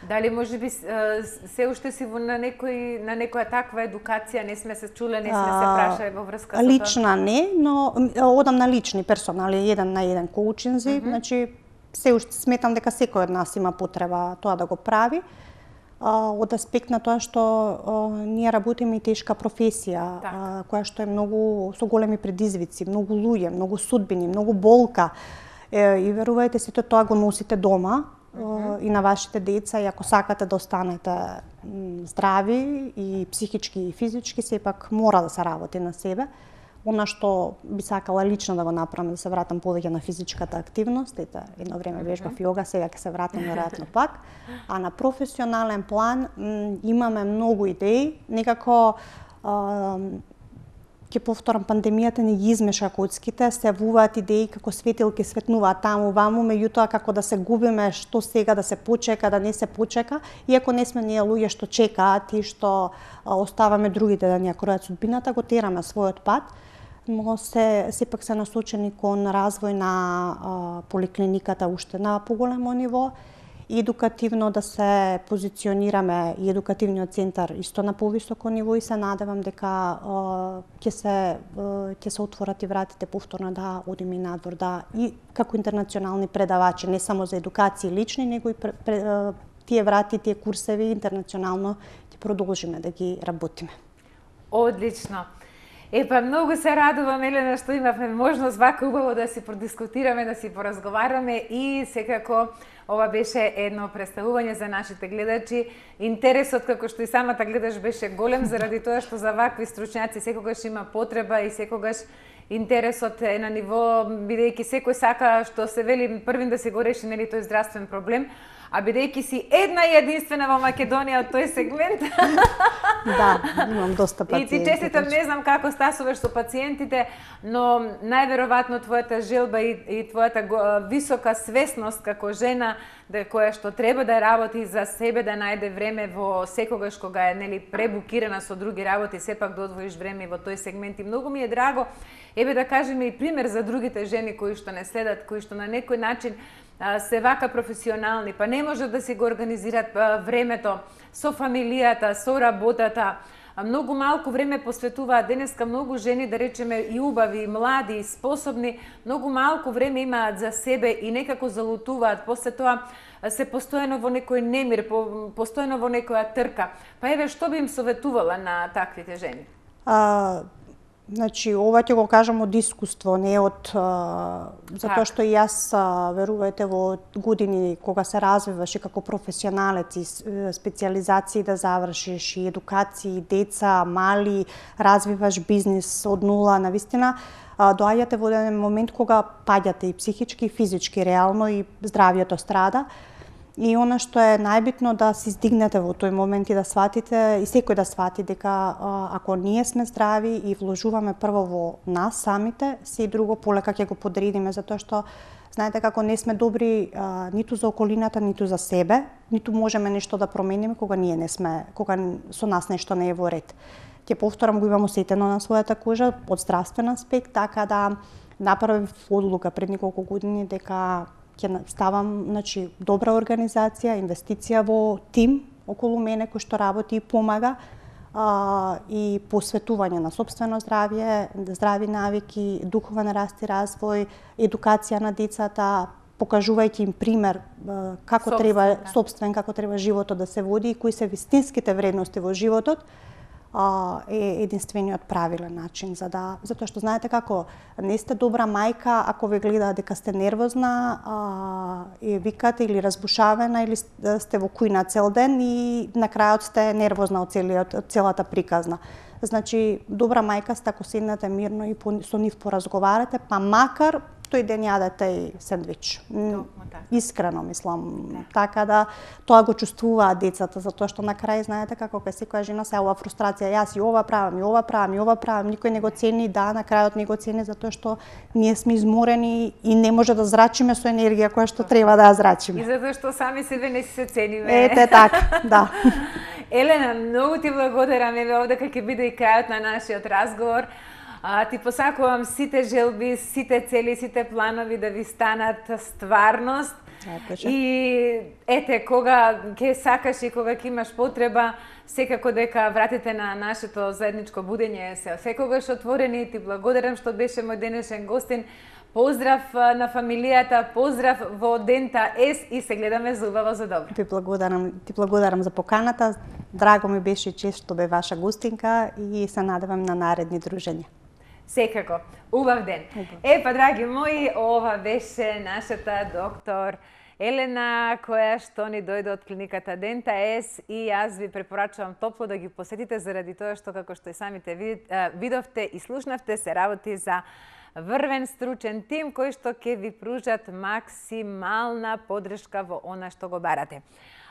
Дали можеби се уште си на некоја таква едукација, не сме се чуле, не сме се прашале во врска со тоа? Лична не, но одам на лични персонали, еден на еден коучинзи, значи се уште сметам дека секој од нас има потреба тоа да го прави. Од аспект на тоа што ние работиме и тешка професија, која што е многу со големи предизвици, многу луѓе, многу судбини, многу болка. И верувајте, сето тоа го носите дома и на вашите деца, и ако сакате да останете здрави и психички и физички, сепак мора да се работи на себе. Она што би сакала лично да го направам, да се вратам повеќе на физичката активност, едно време вежбав јога, сега ќе се вратам веројатно пак. А на професионален план имаме многу идеи, некако ќе повторам, пандемијата не ги измеша коцките, се вуваат идеи како светилки светнуваат таму ваму, меѓутоа како да се губиме што сега да се почека, да не се почека, иако не сме ние луѓе што чекаат и што оставаме другите да ни ја кројат судбината, го тераме својот пат, но сепак се насочени кон развој на поликлиниката уште на поголемо ниво, и едукативно да се позиционираме и едукативниот центар исто на повисоко ниво и се надевам дека ќе се отворат и вратите повторно да одиме и надвор, да и како интернационални предавачи, не само за едукација лични, него и тие врати, тие курсеви интернационално ќе продолжиме да ги работиме. Одлично. Епа, многу се радувам, Елена, што имавме можност вака убаво да си продискутираме, да си поразговараме и секако ова беше едно представување за нашите гледачи. Интересот, како што и самата гледаш, беше голем заради тоа што за вакви стручњаци секогаш има потреба и секогаш интересот е на ниво, бидејќи секој сака, што се вели, првин да се го реши, нели, тој здравствен проблем, а бидејќи си една и единствена во Македонија од тој сегмент. Да, имам доста пациенти. И ти честитам, не знам како стасуваш со пациентите, но најверојатно твојата желба и твојата висока свесност како жена која што треба да работи за себе, да најде време во секогаш кога е, нели, пребукирана со други работи, сепак да одвоиш време во тој сегмент. И многу ми е драго, еве да кажеме и пример за другите жени кои што не следат, кои што на некој начин се вака професионални, па не можат да си го организираат времето со фамилијата, со работата. Многу малку време посветуваат. Денеска многу жени, да речеме, и убави, и млади, и способни, многу малку време имаат за себе и некако залутуваат. После тоа се постојано во некој немир, постојано во некоја трка. Па еве, што би им советувала на таквите жени? Значи, ова ќе го кажам од искуство, не од затоа што и јас верувајте во години кога се развиваш и како професионалец и специализации да завршиш и едукации, деца, мали, развиваш бизнис од нула, навистина, доаѓате во еден момент кога паѓате и психички, и физички, реално и здравјето страда. И она што е најбитно да се издигнете во тој момент и да сватите, и секој да свати дека ако ние сме здрави и вложуваме прво во нас самите, се и друго полека ќе го подредиме, затоа што знаете како не сме добри ниту за околината, ниту за себе, ниту можеме нешто да промениме кога ние не сме, кога со нас нешто не е во ред. Ќе повторам, го имам осетено на својата кожа од здравствен аспект, така да направив одлука пред неколку години дека ќе ставам, значи, добра организација, инвестиција во тим околу мене кој што работи и помага и посветување на сопствено здравје, здрави навики, духовен раст и развој, едукација на децата, покажувајќи им пример како треба како треба животот да се води и кои се вистинските вредности во животот, е единствениот правилен начин затоа што знаете како не сте добра мајка ако ве гледаат дека сте нервозна и викате или разбушавена или сте во кујна цел ден и на крајот сте нервозна од целата приказна. Значи добра мајка сте ако седнете мирно и со нив поразговарате, па макар тој ден јадете и сендвич. Искрено мислам, така да тоа го чувствуваат децата, затоа што на крај знаете како кај секоја жена се ова фрустрација, јас и ова правам, никој не го цени, на крајот не го цени затоа што ние сме изморени и не може да зрачиме со енергија која што треба да ја зрачиме. И затоа што сами себе не се цениме. Ете така, да. Елена, многу ти благодарам, еве овде ќе биде и крајот на нашиот разговор. Ти посакувам сите желби, сите цели, сите планови да ви станат стварност. И ете, кога ќе сакаш и кога ќе имаш потреба, секако дека вратите на нашето заедничко будење се секогаш отворени. Ти благодарам што беше мој денешен гостин. Поздрав на фамилијата, поздрав во Дента С и се гледаме за убаво за добро. Ти благодарам за поканата. Драго ми беше чест што бе ваша гостинка и се надевам на наредни дружења. Секако. Убав ден. Па, драги мои, ова беше нашата доктор Елена, која што ни дојде од клиниката Дента С и јас ви препорачувам топло да ги посетите заради тоа што, како што и самите видовте и слушнавте, се работи за врвен стручен тим кој што ќе ви пружат максимална поддршка во она што го барате.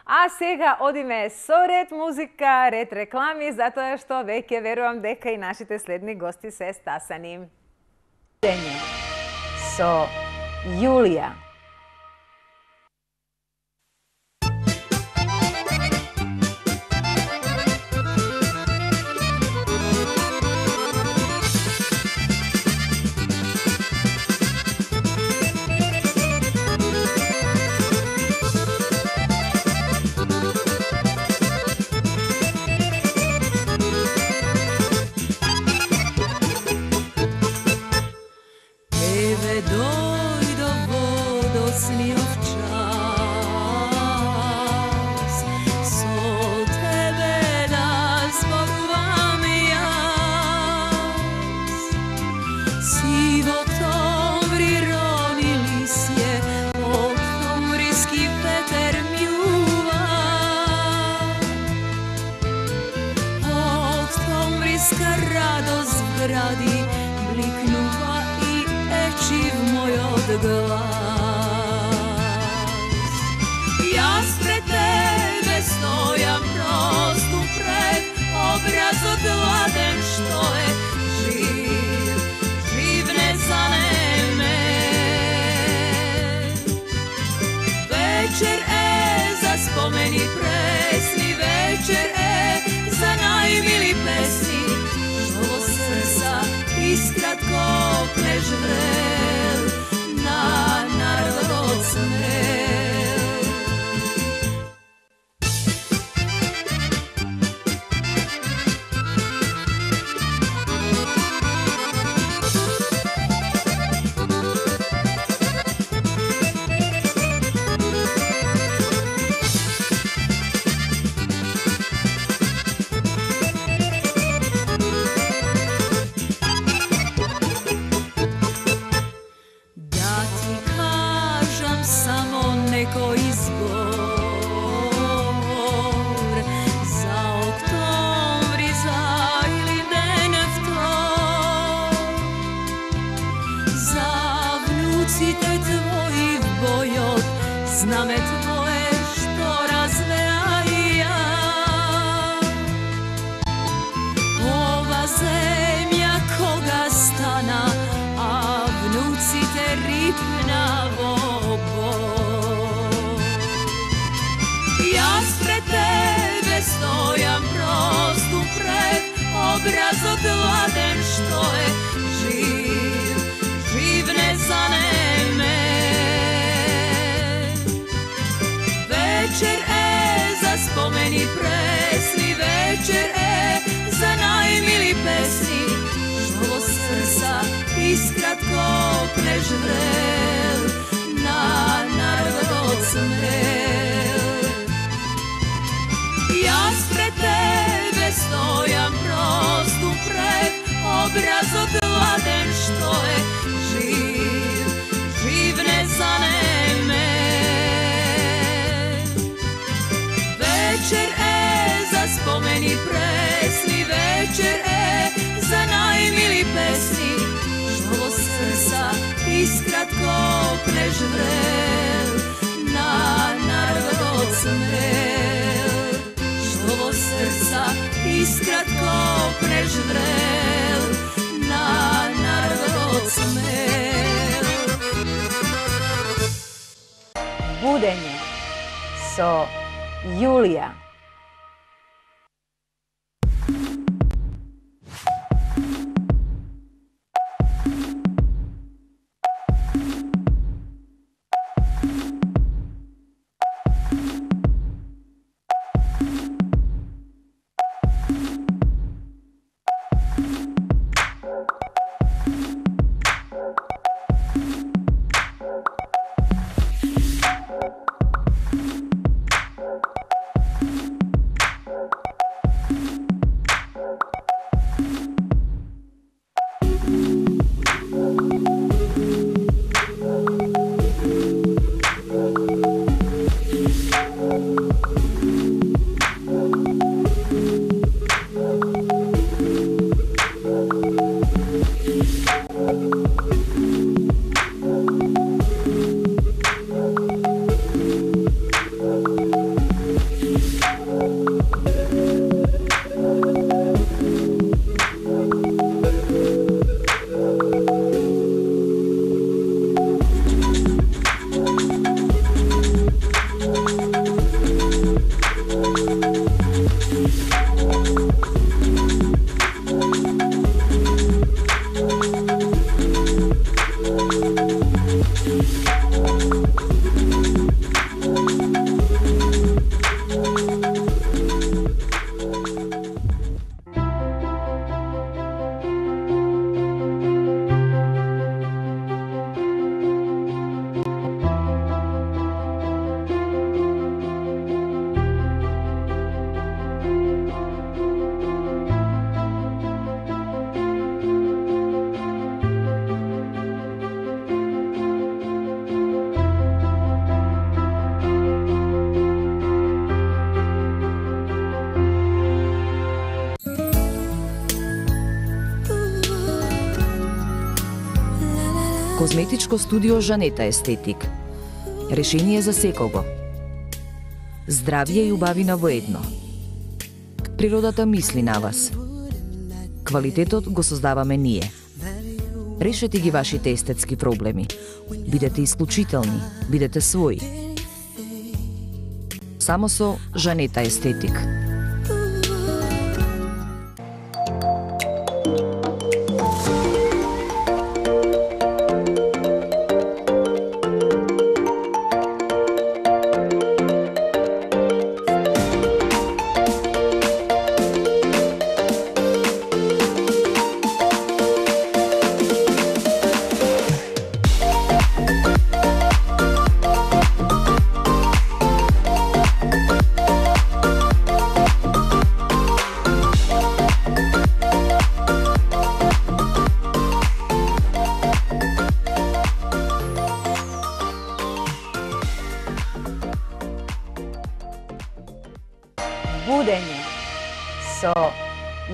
А сега одиме со ред музика, ред реклами, затоа што веќе верувам дека и нашите следни гости се стасани. Со Јулија. Знаме твои бојот, знаме твое што развеа и ја. Ова земја кога стана, а внуците рипна во бог. Јас пред тебе стојам просто пред образот ладен што е жив, жив не занемен. Вечер е за спомени пресни, вечер е за најмили песни, што во срца искратко преживрел на народот смел. Јас пред тебе стојам просто пред образот ладен што е жив, жив не занемен. Вечер е за спомени пресни, вечер е за најмили песни, што во срца искратко преживрел на народот смел, што во срца искратко преживрел на народот смел. Будење со Јулија. Козметичко студио Жанета Естетик. Решение за секого. Здравје и убавина во едно. Природата мисли на вас. Квалитетот го создаваме ние. Решете ги вашите естетски проблеми. Бидете исклучителни, бидете своји. Само со Жанета Естетик. Будење со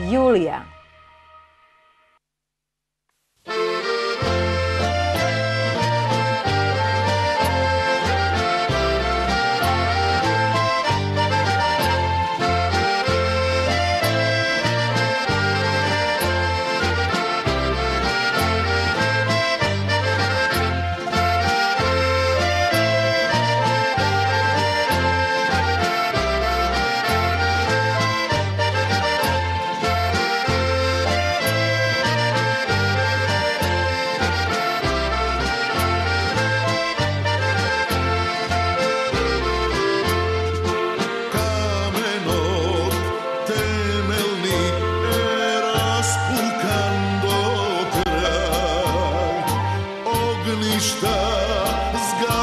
Јулија.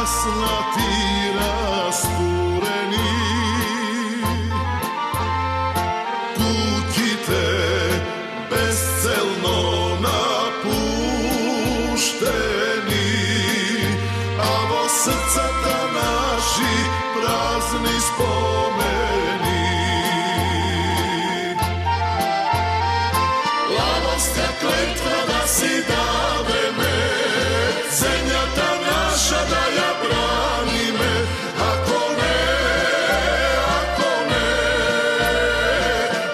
гаснати растурени, куќите безцелно напуштени, а во срцата наши празни спомени. Ладоска клетва да си дадеме, земјата наша да ја браниме, ако не,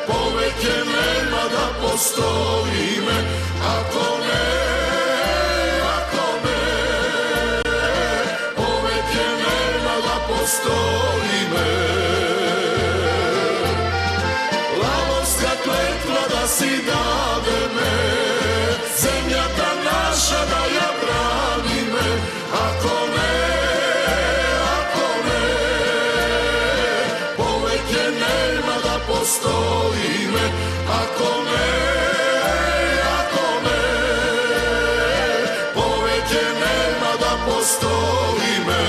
повеќе нема да постоиме, ако не, повеќе нема да постоиме. Ладоска клетва да си дадеме, земјата наша да ја браниме, ако не, повеќе нема да постоиме, ако не, повеќе нема да постоиме.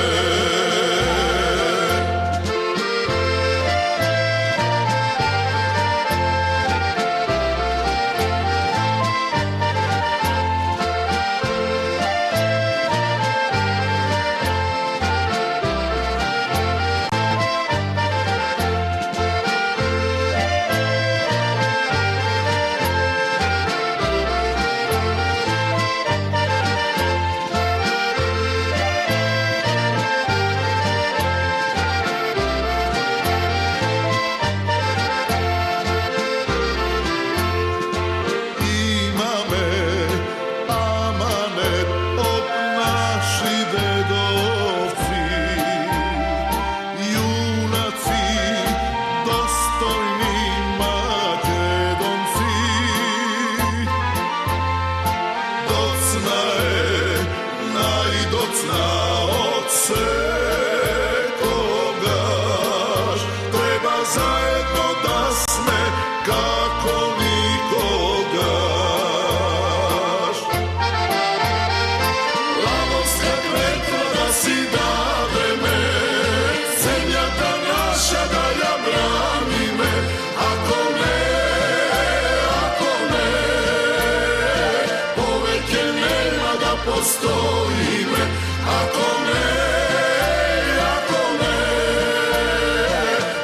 Postoime, ako ne,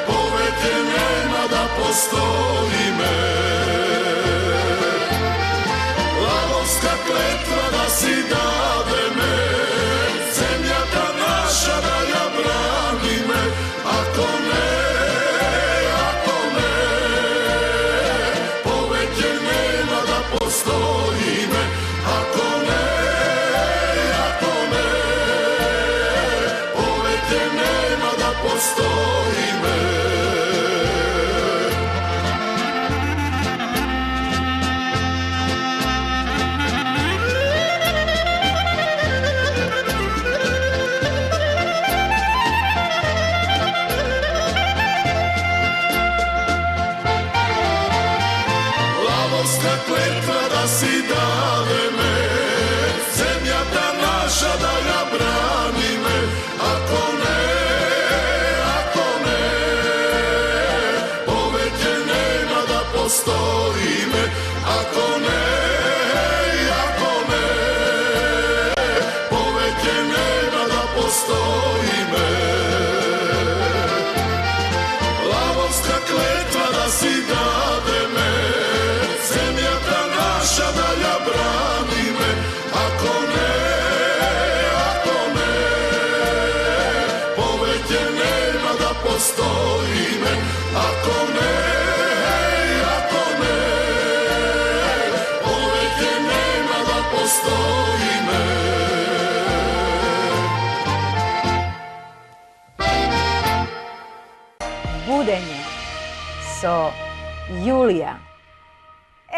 poveke nema da postoime. Ladovska kletva da si dademe, zemljata naša da ja branime, ako ne, poveke nema da postoime, ako ne, postoime. Ladovska kletva da si dademe, zemljata naša da ja branime, ako ne, postoime, ako ne, poveke nema da postoime. Lavovska kletva da si dademe, zemljata naša da ja branime, ako ne, poveke nema da postoime, ako ne, postoime. Budenje со Јулија.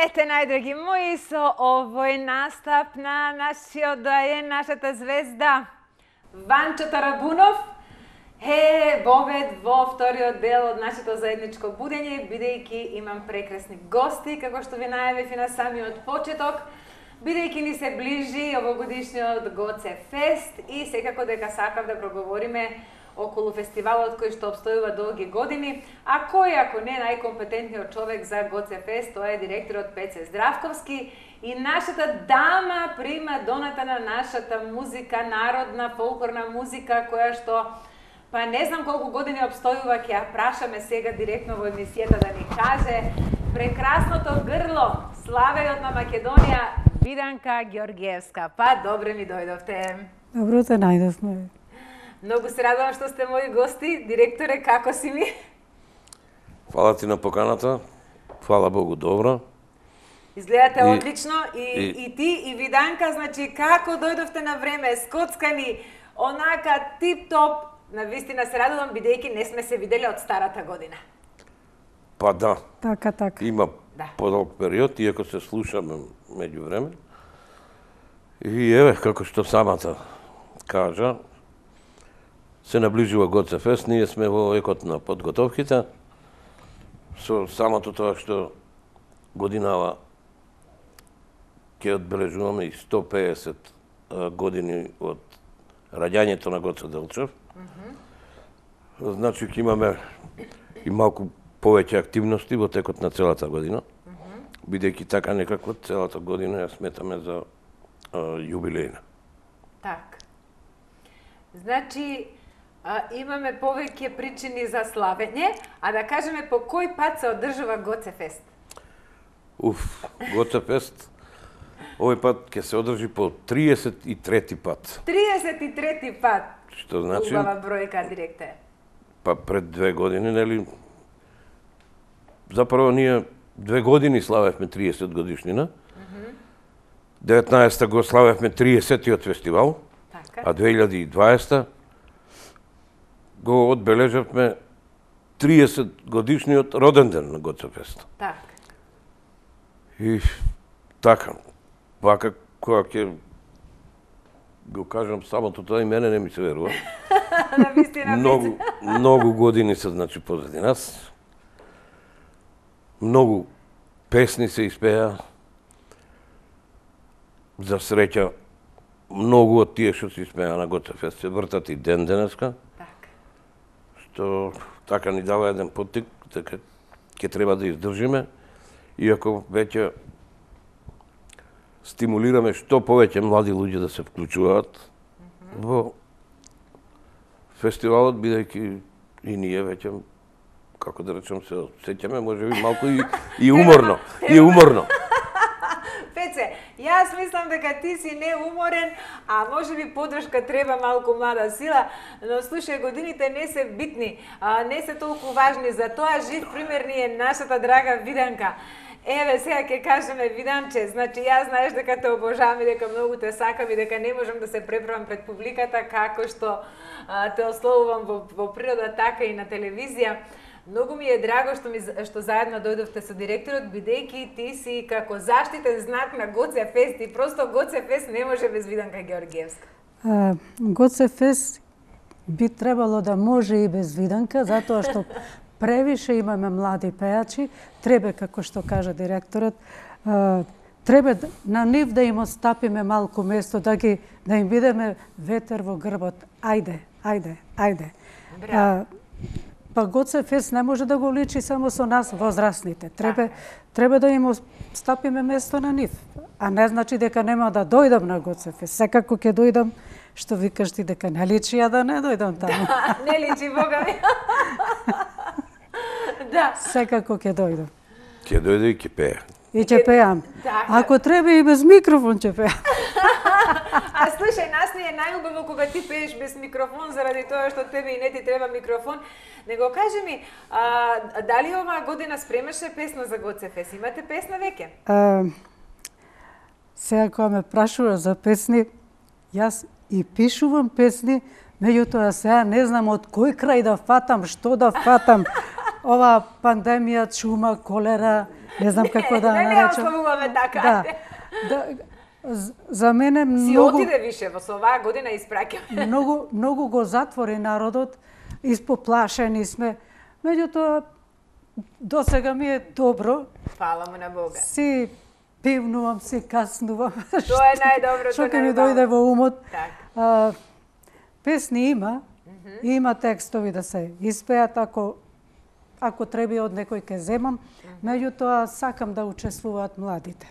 Ете, најдраги мои, со овој настап на нашиот доаен, нашата звезда Ванчо Тарабунов е вовед во вториот дел од нашето заедничко будење, бидејќи имам прекрасни гости, како што ви најавив и на самиот почеток. Бидејќи ни се ближи овогодишниот Гоце Фест и секако дека сакав да проговориме околу фестивалот кој што обстојува долги години, а кој ако не најкомпетентниот човек за Гоце Фест, тоа е директорот Пеце Здравковски и нашата дама прима доната на нашата музика, народна, фолклорна музика, која што па не знам колку години обстојува, ќе ја прашаме сега директно во емисијата да ни каже прекрасното грло, славејот на Македонија, Виданка Ѓоргиевска. Па добре ми дојдовте. Добро те најдовме. Многу се радувам што сте мои гости. Директоре, како си ми? Фала ти на поканата. Фала Богу, добро. Изгледате одлично и ти и Виданка, значи како дојдовте на време, скоцкани, онака тип-топ. Навистина се радувам, бидејќи не сме се видели од старата година. Па да. Така. Има подолг период, иако се слушаме меѓу време. И еве, како што самата кажа, се наближува Гоце Фест, ние сме во екот на подготовките, со самото тоа што годинава ќе одбележуваме и 150 години од раѓањето на Гоце Делчев. Значи ќе имаме и малку повеќе активности во текот на целата година, бидејќи така некако целата година ја сметаме за јубилејна. Так. Значи, имаме повеќе причини за славење, а да кажеме по кој пат се одржува Гоце Фест? Гоце Фест овој пат ќе се одржи по 33 пат. 33 пат? Што значи? Убава бројка, директор. Па пред 2 години, нели? Запрво ние 2 години славевме 30 годишнина. 19-та го славевме 30-тиот фестивал, а 2020 го одбележавме 30 годишниот роден ден на Гоце Фест. Так. И така, вака кога ќе го кажам самото тоа и мене не ми се верува. Многу години се значи позади нас. Многу песни се испеа. За среќа, многу од тие што се испеа на Гоце Фест се вртат и ден денеска. Так. Што така ни дава еден поттик, дека ќе треба да издржиме, иако веќе стимулираме што повеќе млади луѓе да се вклучуваат во фестивалот, бидејќи и ние веќе, како да речем, се сеќаме, можеби малку и уморно. И уморно. Пеце, јас мислам дека ти си неуморен, а можеби подршка треба малку млада сила, но слушај, годините не се битни, не се толку важни, за тоа жив пример ни е нашата драга Виданка. Еве, сега ќе кажеме, Виданче, значи јас знаеш дека те обожавам и дека многу те сакам и дека не можам да се преправам пред публиката како што те ословувам во природа, така и на телевизија. Многу ми е драго што заедно дојдовте со директорот, бидејќи ти си како заштитен знак на Гоце Фест и просто Гоце Фест не може без Виданка Ѓоргиевска. Гоце Фест би требало да може и без Виданка, затоа што превише имаме млади пејачи, треба, како што кажа директорот, треба на нив да им остапиме малку место, да им бидеме ветер во грбот. Ајде. Па Гоце Фест не може да го личи само со нас возрастните. Треба да им остапиме место на нив. А не значи дека нема да дојдам на Гоце Фест. Секако ќе дојдам, што викаш ти дека не личи, а да не дојдам таму. Да, не личи, Бога ми. Да. Секако ќе дојдам. Ќе дојде и ќе пее. И ќе пеам. Ако треба и без микрофон ќе пеам. А слушај, нас не е најубаво кога ти пееш без микрофон, заради тоа што тебе и не ти треба микрофон. Него кажи ми, дали оваа година спремаше песна за Гоце Фест? Имате песна веќе? Сега кога ме прашува за песни, јас и пишувам песни, меѓутоа сега не знам од кој крај да фатам, што да фатам. Ова пандемија, чума, колера, не знам како да наречам. Не ославуваме така. За мене многу... Си отиде више, во оваа година испраќаме. Многу го затвори народот, испоплашени сме. Меѓутоа, досега ми е добро. Фала му на Бога. Си пивнувам си, каснувам. Тоа е најдоброто. Што ќе ми дојде во умот. Песни има, има текстови да се испеат, ако треба од некој ке земам, меѓутоа сакам да учествуваат младите.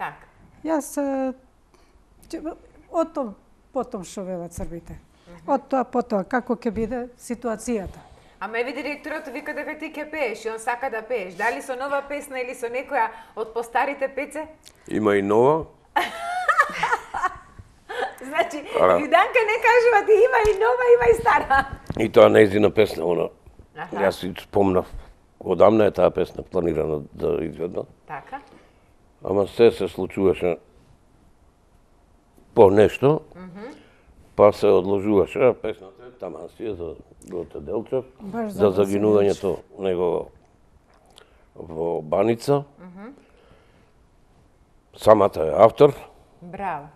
Така. Јас од тоа потом што велат србите. Од тоа потоа како ќе биде ситуацијата. Ама еви директорот вика дека ти ќе пееш и он сака да пееш. Дали со нова песна или со некоја од постарите пеце? Има и нова. Значи, Виданка не кажува ти има и нова, има и стара. И тоа нејзина песна, она. Јас си спомнав, одамна е таа песна планирана да изведна. Така. Ама се случуваше по нешто, па се одложуваше песната, таман си е за Гоце Делчев, за загинувањето него во Баница. Самата е автор. Браво.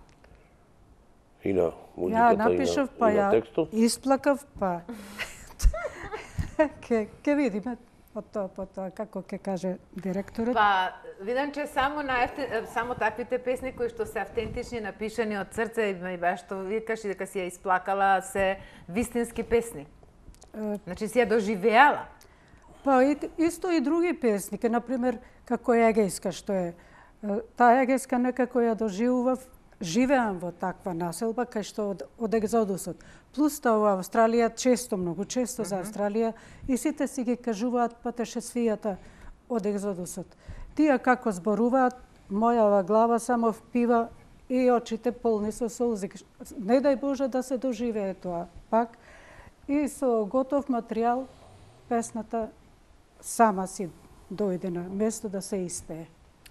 И на музиката, ја напишав, и на текстот. Исплакав, па ќе видиме од тоа потоа како ќе каже директорот. Па видам че само таквите песни кои што се автентични, напишани од срце и баш што викаш и дека си ја исплакала, се вистински песни. Значи си ја доживеала. Па исто и други песни, например како Егејска што е. Таа Егејска некако ја доживував. Живеам во таква населба кај што од екзодусот. Плюс тоа во Австралија многу често за Австралија и сите си ги кажуваат патешествијата од екзодусот. Тие како зборуваат, мојава глава само впива и очите полни со солзи. Не дај Боже да се доживее тоа пак. И со готов материјал песната сама си дојде на место да се испее.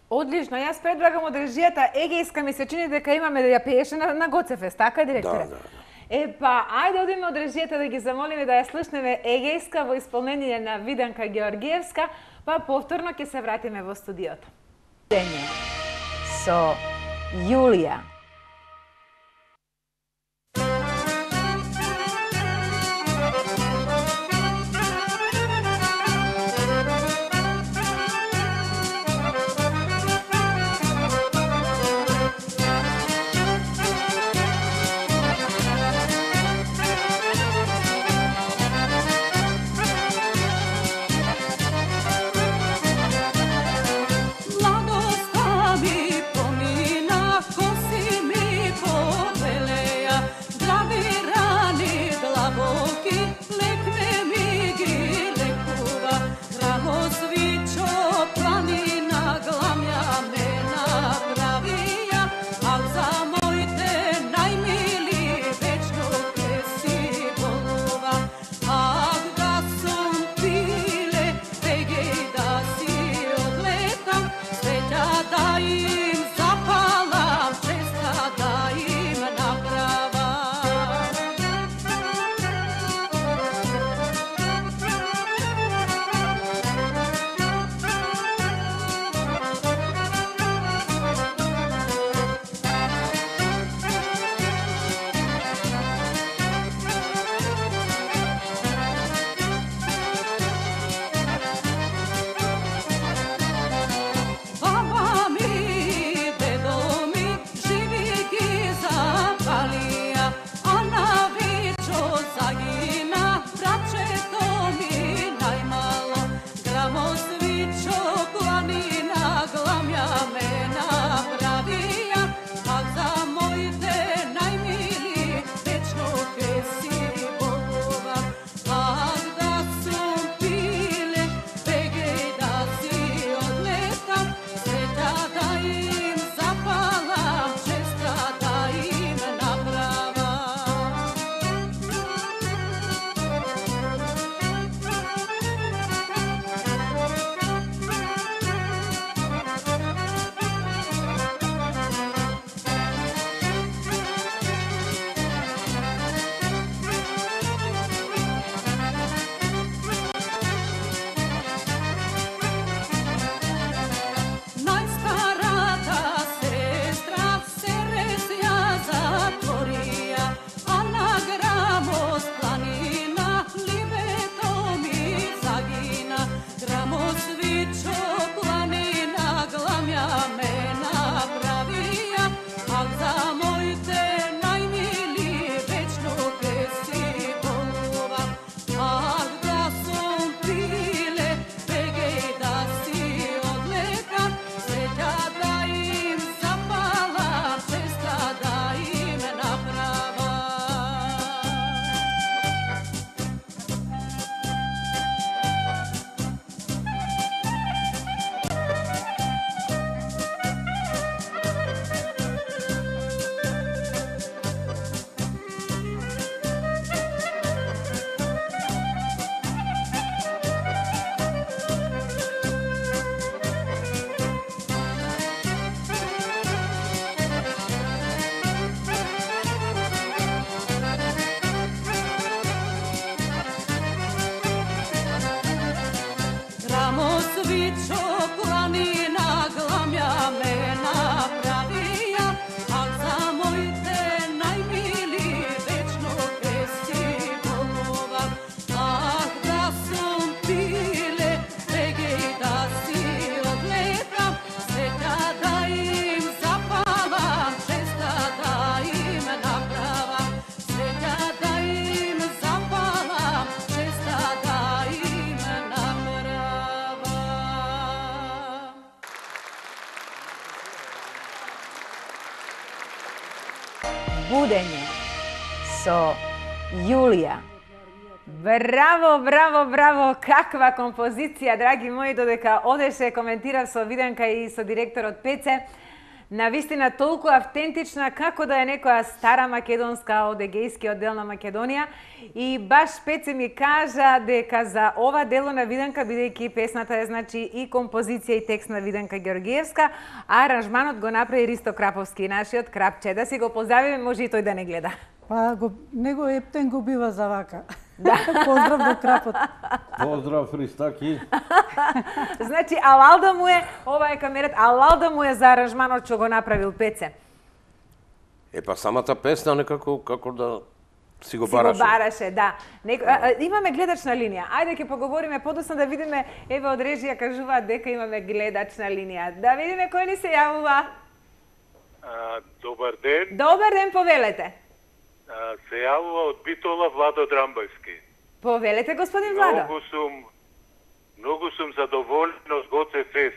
Одлично, јас предлагам одржијата Егејска, ми се чини дека имаме да ја пееше на Гоцефест, така директоре? Да. Па, ајде одиме одржијата да ги замолиме да ја слушнеме Егејска во исполнение на Виданка Георгиевска, па повторно ќе се вратиме во студиото. Дење со Јулија. Mladost mi pomina, ko si Мичо планина гламја ме направија, ал за моите најмили вечно песни волувам. Ах, да сум пиле, бегеј да си одлетам, среќа да им запалам, честа да им направам, среќа да им запалам, честа да им направам. Будење со Јулија. Браво, браво, браво, каква композиција, драги мои, додека одеше, коментирав со Виденка и со директорот Пеце. Навистина толку автентична како да е некоја стара македонска од егејскиот дел на Македонија. И баш Пеце ми кажа дека за ова дело на Виденка, бидејќи песната е значи и композиција и текст на Виденка Георгиевска, а аранжманот го направи Ристо Краповски, нашиот крапче. Да си го поздравиме, може и тој да не гледа. Па него ептен го бива за вака. Да. Поздрав до крапот. Поздрав, Христаки. Значи, алал да му е, ова е камерат, алал да му е за аранжманот што го направил Пеце. Па самата песна некако како да си го бараше. Си го бараше, да. Имаме гледачна линија. Ајде ќе поговориме подоцна да видиме, еве од режија кажуваат дека имаме гледачна линија. Да видиме кој ни се јавува. Добар ден. Добар ден, повелете. Се јавува од Битола Владо Драмбајски. Повелете, господин Владо. Многу сум задоволен од Гоце Фест.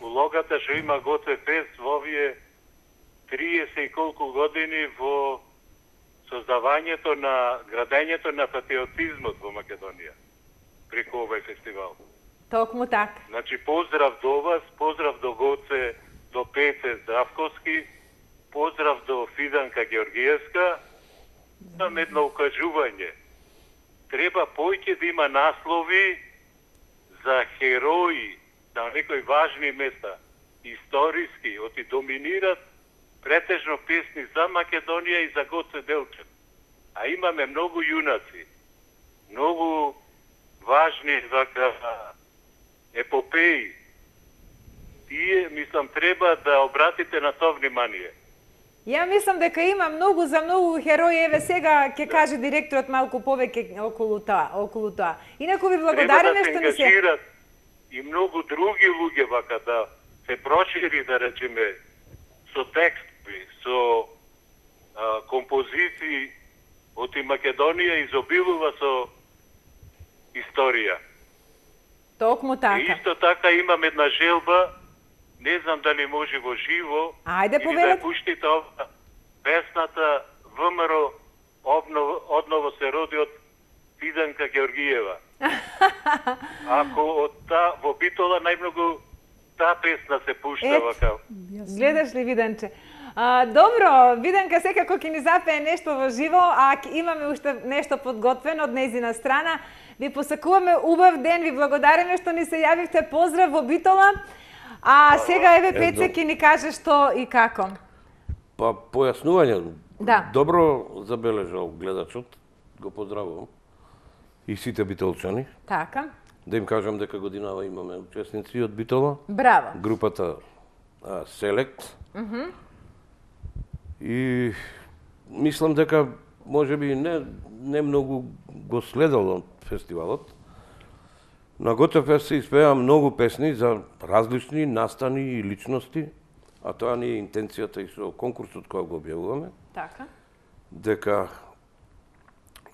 Улогата што има Гоце Фест во овие 30 и колку години во создавањето на градењето на патриотизмот во Македонија преку овој фестивал. Токму така. Значи поздрав до вас, поздрав до Гоце, до Пеце Здравковски, поздрав до Фиданка Георгиевска. Имам едно укажување. Треба поќе да има наслови за херои на некои важни места, историски, оти доминират претежно песни за Македонија и за Гоце Делчев. А имаме многу јунаци, многу важни епопеи. Тие, мислам, треба да обратите на тоа внимание. Ја мислам дека има многу за многу херои, еве сега ќе каже директорот малку повеќе околу тоа. Инаку ви благодариме што ни се... Треба да се ангажират и многу други луѓе вака да се прошири, да речеме, со текстови, со композиции, оти Македонија изобилува со историја. Токму така. И исто така имам една желба, не знам дали може во живо, ајде, или да пуштите песната ВМРО одново се роди од Фиданка Георгиева. Ако во Битола најмногу таа песна се пушта вака. Гледаш ли, Виденче? Добро, Виденка секако ќе ни запее нешто во живо, а имаме уште нешто подготвено од нејзина страна. Ви посакуваме убав ден, ви благодариме што ни се јавивте. Поздрав во Битола. А сега еве Пеце ќе ни каже што и како. Па појаснување. Да. Добро забележал гледачот. Го поздравувам. И сите битолчани. Така. Да им кажам дека годинава имаме учесници од Битола. Браво. Групата Селект. И мислам дека можеби не многу го следал фестивалот. На Гоце Фест се испеа многу песни за различни настани и личности, а тоа ни е интенцијата и со конкурсот кој го објавуваме. Така. Дека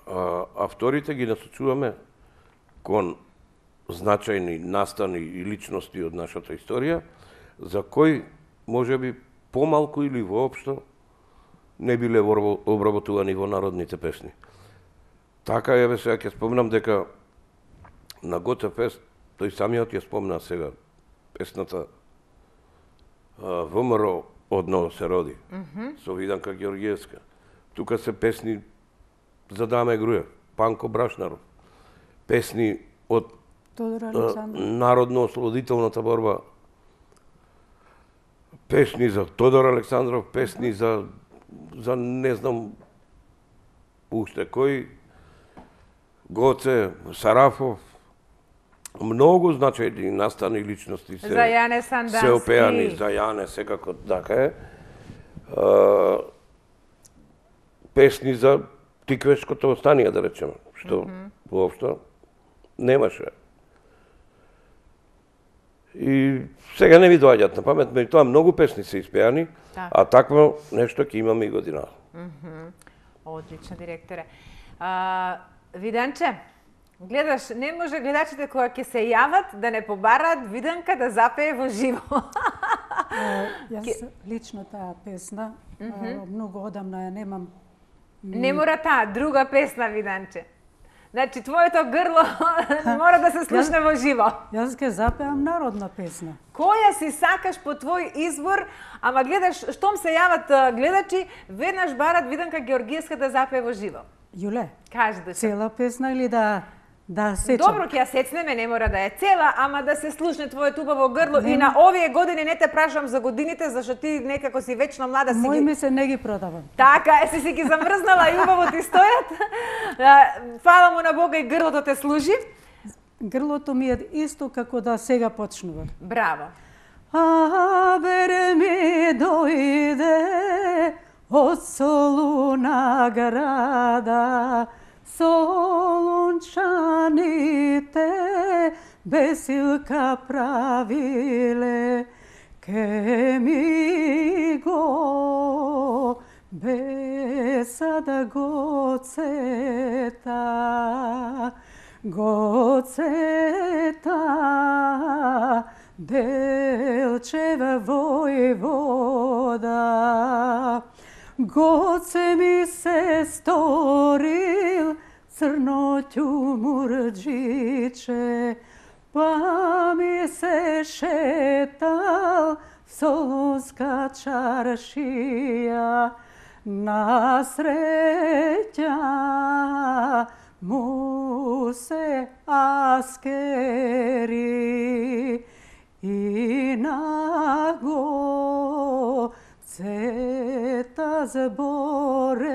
авторите ги насочуваме кон значајни настани и личности од нашата историја, за кои можеби помалку или воопшто не биле обработувани во народните песни. Така, еве сега ќе спомнам дека на Гоце Фест, тој самиот ја спомна сега, песната ВМРО одново се роди, со Виданка Георгиевска. Тука се песни за Даме Груев, Панко Брашнаров, песни од народно-ослободителната борба, песни за Тодор Александров, песни за не знам уште кој, Гоце, Сарафов, Многу значајни настани личности За Јане Сандански. се опеани за Јане, секако така е. Песни за Тиквешкото останија, да речеме, што воопшто немаше. И сега не ми доаѓаат на памет, меѓутоа многу песни се испеани, а такво нешто ќе имаме и година. Одлично, директоре. Виданче, гледаш, не може гледачите кога ќе се јават да не побараат Виданка да запее во живо. Јас лично таа песна, многу одамна ја немам. Не мора таа, друга песна, Виданче. Значи, твоето грло мора да се слушне во живо. Јас ќе запеам народна песна. Која си сакаш по твој избор, ама гледаш, штом се јават гледачи, веднаш барат Виданка Георгиевска да запее во живо. Јуле, кажи да цела песна или да сечам? Добро, ќе ја сецнеме, не мора да е цела, ама да се слушне твоето убаво грло. И на овие години не те прашам за годините, зашто ти некако си вечно млада. Мој ми се не ги продавам. Така е, си ги замрзнала и убаво ти стојат. Фала му на Бога и грлото те служи. Грлото ми е исто како да сега почнува. Браво. Бере ми дојде од Солуна града, солунчаните бесилка правиле, ке ми го бесада гоцета, гоцета, Делчева војвода. Гоце ми се сторил црно ќумурџиче, па ми се шетал солунска чаршија, на среќа му се аскери и на го цета збореа.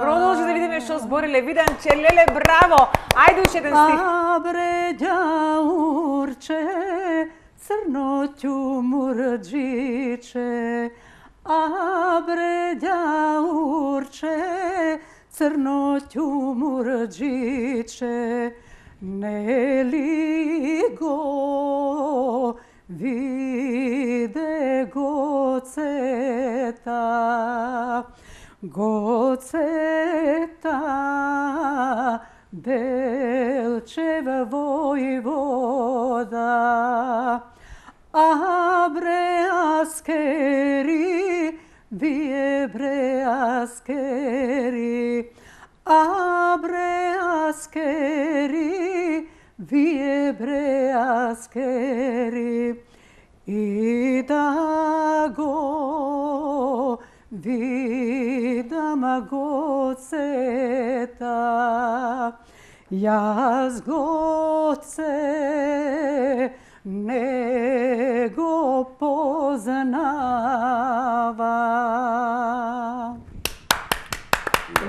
Продолжи да видиме што збориле. Виданче, леле, браво! Ајде уште еден стих. Абре ѓаурче, црно ќумурџиче, абре ѓаурче, црно ќумурџиче, нели го виде гоцета, гоцета, Делчева војвода. Абре аскери, вие бре аскери, абре аскери, вие бре аскери, и да го видам гоцета, јас гоце не го познава.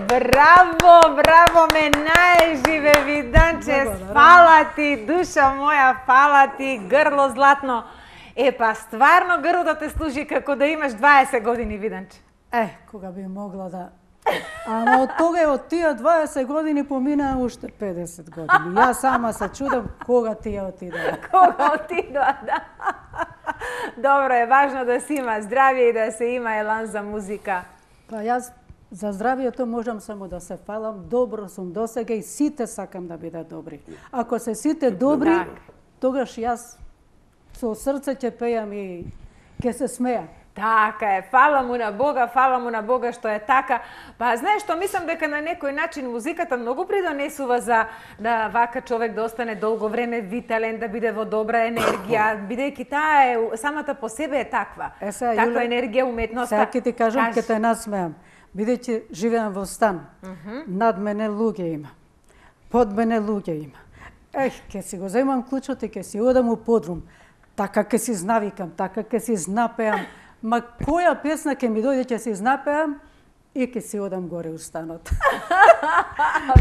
Браво, браво, ме најживе, Виданче, фала ти, душа моја, фала ти, грло златно. Па, стварно грлото те служи како да имаш 20 години, Виданче. Кога би могла да... Ама од тога и од тие 20 години поминаа уште 50 години. Јас сама се чудам кога тие отидоа. Кога отидоа, да. Добро е, важно да се има здравје и да се има елан за музика. Па јас за здравието можам само да се фалам. Добро сум досега и сите сакам да бидат добри. Ако се сите добри, тогаш јас со срце ќе пејам и ќе се смеам. Така е, фала му на Бога што е така. Па знаеш што, мислам дека на некој начин музиката многу придонесува за да вака човек да остане долго време витален, да биде во добра енергија, бидејќи таа е самата по себе е таква. Таква енергија, уметноста. Сега ќе ти кажам, ќе те насмеам. Бидејќи живеам во стан, над мене луѓе има, под мене луѓе има. Ќе си го земам клучот и ќе си одам у подрум. Така ќе си знавикам, така ќе си знапеам. Ма која песна ќе ми дојде, ќе си знапеам и ќе си одам горе у станот.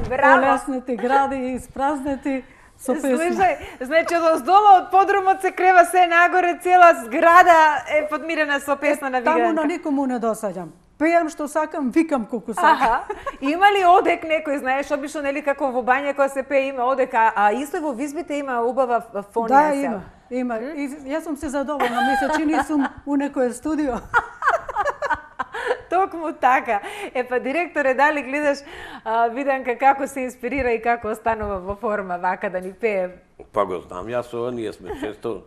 Браво! Олеснети гради и испразнети, со песна. Слушај, значи од оздола од подрумот се крева се нагоре, цела зграда е подмирена со песна на Виденка. Таму на никому не досаѓам. Пејам што сакам, викам колку сакам. Аха. Има ли одек некој, знаеш, обично нели како во бања кога се пее има одек, а исто во визбите има убава фонија. Да, има. И јас сум се задоволна, ми се чини сум у некој студио. Токму така. Па директоре, дали гледаш Виденка како се инспирира и како останува во форма вака да ни пее? Па го знам, јас ова, ние сме често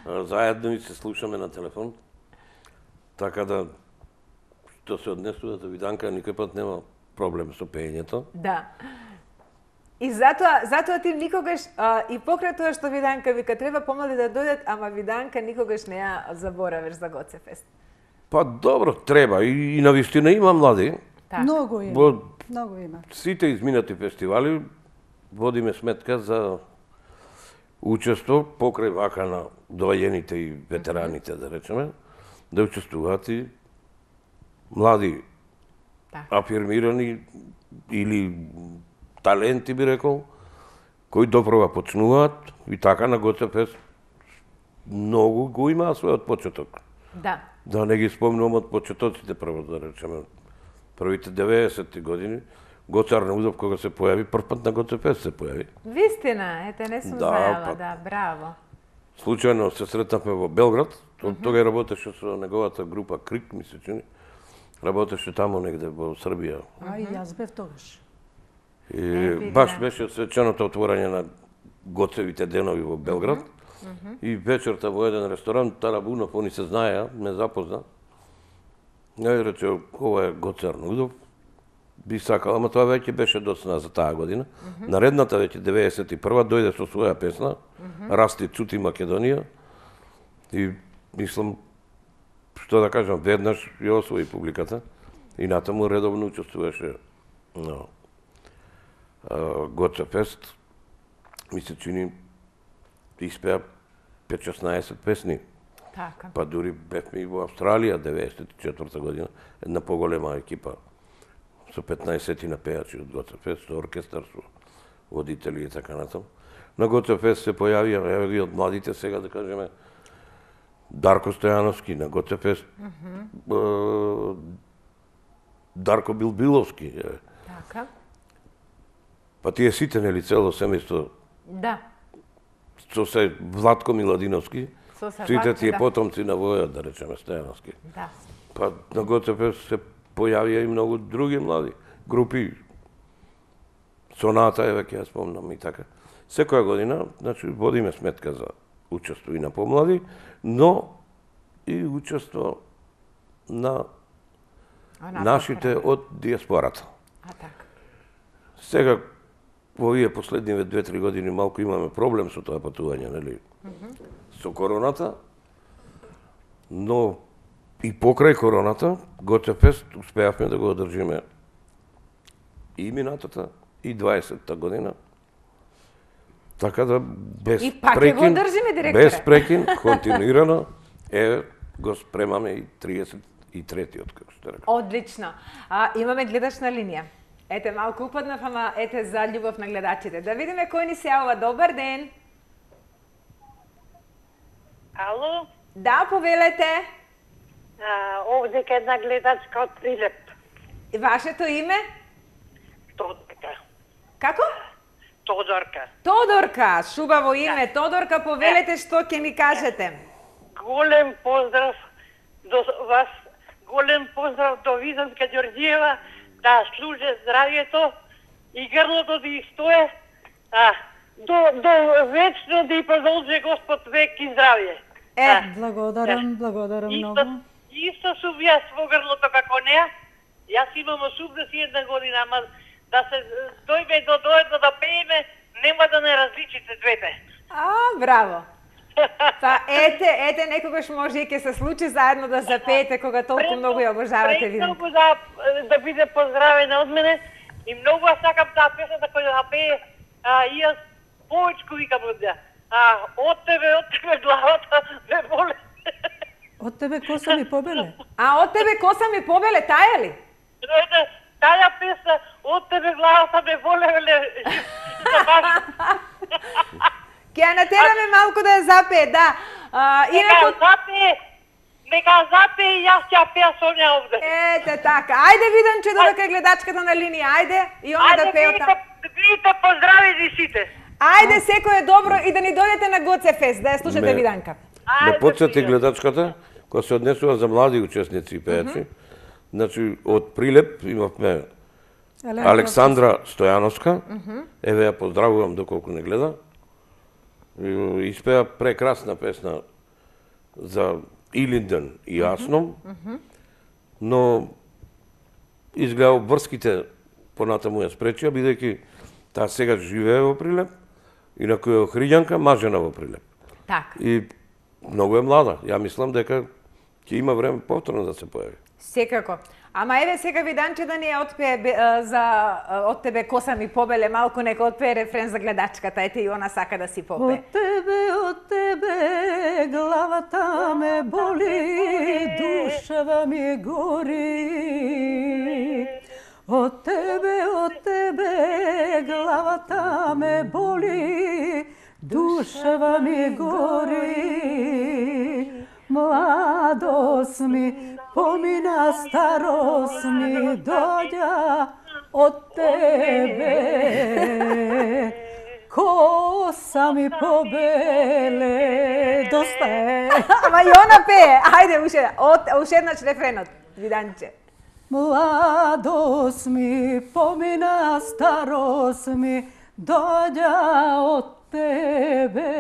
заедно и се слушаме на телефон. Така да, што се однесува до Виденка, никој пат нема проблем со пеењето. Да. И затоа ти никогаш, и покрај тоа што Виденка вика, треба помлади да дојдат, ама Виденка никогаш не ја заборавиш за Гоце фест. Па добро, треба. И на вистина има млади. Так. Многу има. Во Многу има. сите изминати фестивали водиме сметка за учество покрај вака на доаѓените и ветераните, да речеме, да учествуваат и млади, афирмирани или таленти, би рекол, кои допрва почнуваат и така на Гоце фест многу го имаа својот почеток. Да. Да не ги спомнувам од почетоците, прво да речеме. Првите 90-ти години, Гоце Арнаудов кога се појави, прв пат на Гоце фест се појави. Вистина, ете не сум знаела, да, браво. Случајно се сретнавме во Белград, тога работеше со неговата група Крик, ми се чини. Работеше таму негде во Србија. А и јас бев тогаш. И баш беше свеченото отворање на Гоцевите денови во Белград. И вечерта во еден ресторан, Тарабунов, они се знаеа, ме запозна. Ја рече, ова е Гоце Арнаудов. Би сакала, ама тоа веќе беше доцна за таа година. Наредната веќе 91-а дојде со своја песна, Расти Цути Македонија. И мислам, што да кажам, веднаш ја освои публиката. И натаму редовно учествуваше на Гоце фест. Ми се чини испеа 5-16 песни. Така. Па дури бевме и во Австралија 94 година, една поголема екипа со 15 на пејачи од Гоце фест, со оркестар, со водители и така натаму. На Гоце фест се појавија еве и од младите сега да кажеме Дарко Стојановски на Гоце фест. Дарко Билбиловски. Така. Па тие сите нели цело семејство. Да. Со се Владко Миладиновски, сите тие потомци на Војот, да речеме, Стојановски. Да. Па на Гоце фест се појавија и многу други млади групи. Соната, еве ќе ја спомнам и така. Секоја година, значи, водиме сметка за учество и на помлади, но и учество на нашите од диаспората. А така. Сега, во овие последниве 2-3 години малку имаме проблем со тоа патување, нели? Со короната, но и покрај короната, Гоце фест успеавме да го одржиме и минатата, и 20-та година. Така да, без И пак прекин, го одржиме, директоре. без прекин, континуирано, го спремаме и 33-тиот, како што рекам. Одлично. Имаме гледач на линија. Ете, малку упаднав, ама ете за љубов на гледачите. Да видиме кој ни се јавува. Добар ден. Ало? Да, повелете. Овде ке една гледачка од Прилеп. И вашето име? Тодорка. Како? Тодорка. Тодорка, шубаво име. Тодорка, повелете што ќе ни кажете. Голем поздрав до вас, голем поздрав до Виденка Ѓорѓиева, да служе здравието и грлото да стои, до вечно да и продолжи Господ век и здравје. Благодарам многу. Исто сум јас во грлото како неа. Јас имам 81 година, ама да се дојме до доедно да пееме, нема да не различите двете. Браво. Па ете, некогаш може и ќе се случи заедно да запеете кога толку многу ја обожавате Виденка. Премногу да биде поздравена од мене и многу сакам таа песната која да пее, и јас повечко викам од неа. Од тебе главата ме боле. Од тебе коса ми побеле? Од тебе коса ми побеле, таја ли? Таа песна, од тебе главата ме боле, малку да ја запее, да. Нека запее и јас ќе пеа со неа овде. Ете така. Ајде Виданче додека е гледачката на линија, ајде и она да пее таму. Видите, поздравите сите. Ајде секој е добро и да ни дојдете на Гоце Фест, да ја слушате Виданка. Да потсети гледачката, која се однесува за млади учесници и пејачи. Значи, од Прилеп имавме Александра Стојановска, еве ја поздравувам доколку не гледа. Испеа прекрасна песна за Илинден и Јасном, но изгледа обврските понатаму ја спречија, бидејќи таа сега живее во Прилеп, инаку е Охриѓанка, мажена во Прилеп. Така. И многу е млада. Ја мислам дека ќе има време повторно да се појави. Секако. Ама еве сега Виданче да ни ја отпее од тебе коса ми побеле, малку нека отпее рефрен за гледачката, ете и она сака да си попее. Од тебе главата ме боли, душава ми гори. Од тебе главата ме боли, душава ми гори. Младост ми помина, старост ми дојде од тебе. Коса ми побеле, доста е. Ама и она пее. Ајде, уште еднаш рефренот, Виданче. Младост ми помина, старост ми дојде од тебе.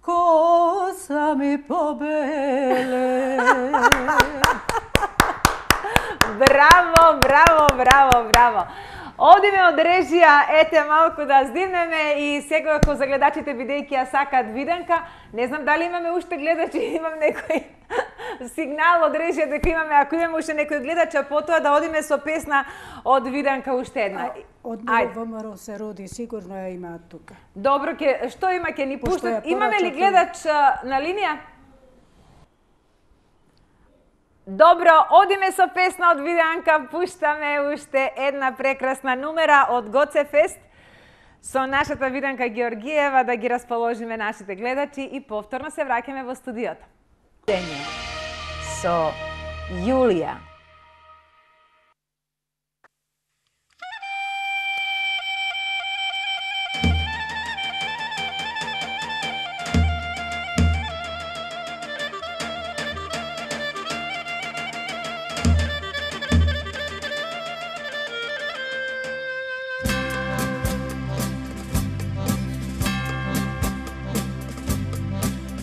Коса ми побеле. Браво, браво, браво, браво. Одиме од режија, ете малку да здивнеме и секако за гледачите бидејќи ја сакаат Виданка. Не знам дали имаме уште гледачи, имам некој сигнал од режија дека имаме, ако имаме уште некој гледач, а потоа да одиме со песна од Виданка уште една. Од ВМРО се роди, сигурно ја имаат тука. Добро, што има, ќе ни пуштат? Имаме ли гледач на линија? Добро, одиме со песна од Виданка, пуштаме уште една прекрасна номера од Гоце Фест со нашата Виданка Георгиева да ги расположиме нашите гледачи и повторно се враќаме во студиото. Со Јулија.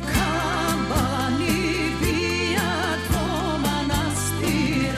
Kabani bijat po manastir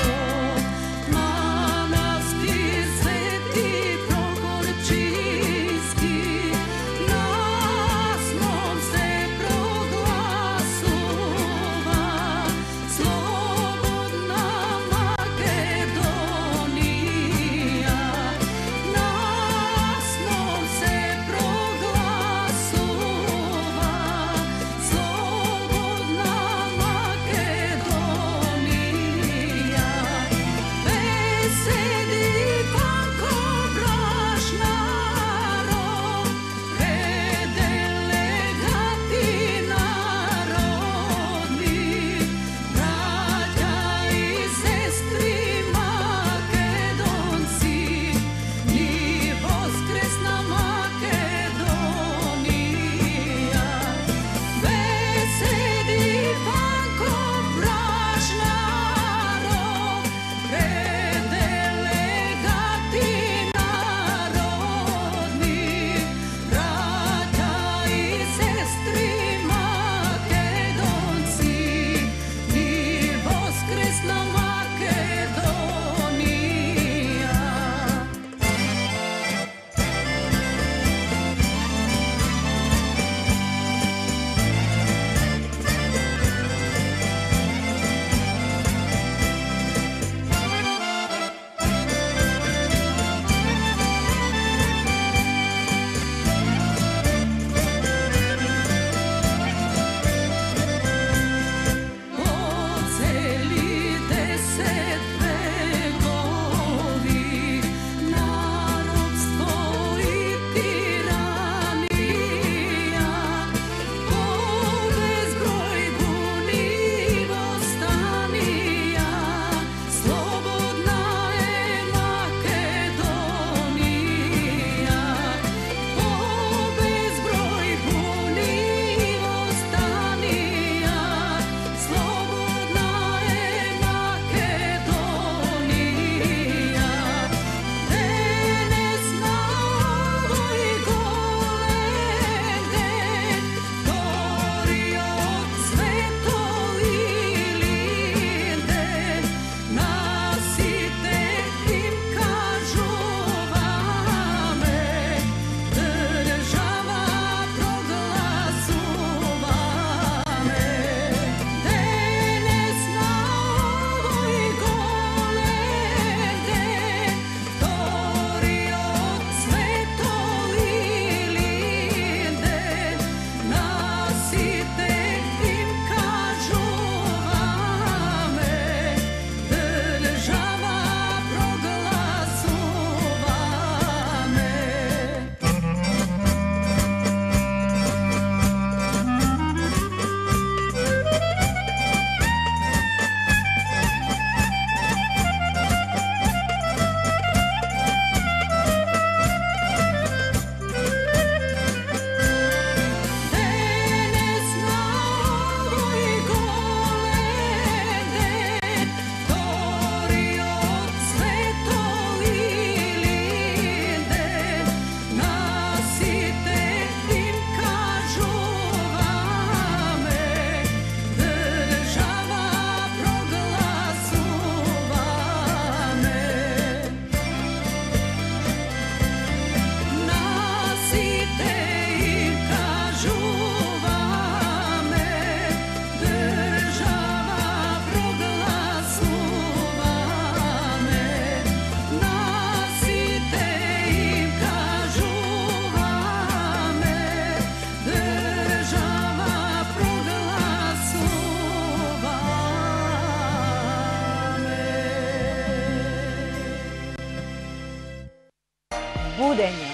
Будење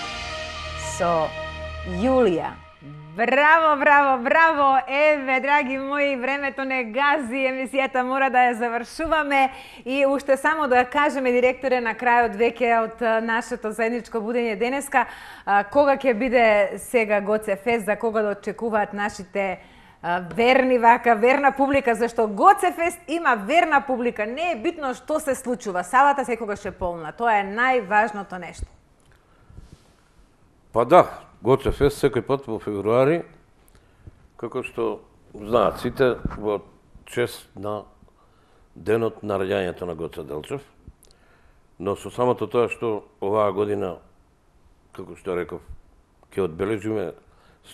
со Јулија. Браво, браво, браво! Еве, драги мои, времето не гази, емисијата мора да ја завршуваме и уште само да кажеме, директоре, на крајот веќе од нашето заедничко будење денеска, кога ќе биде сега ГОЦ-фест, за кога да очекуваат нашите верни верна публика, зашто ГОЦ-фест има верна публика. Не е битно што се случува, салата секогаш е полна. Тоа е најважното нешто. Па да, ГОЦ-фест секој пат во февруари, како што знаат сите, во чест на денот на раѓањето на Гоце Делчев. Но со самото тоа што оваа година, како што реков, ќе одбележиме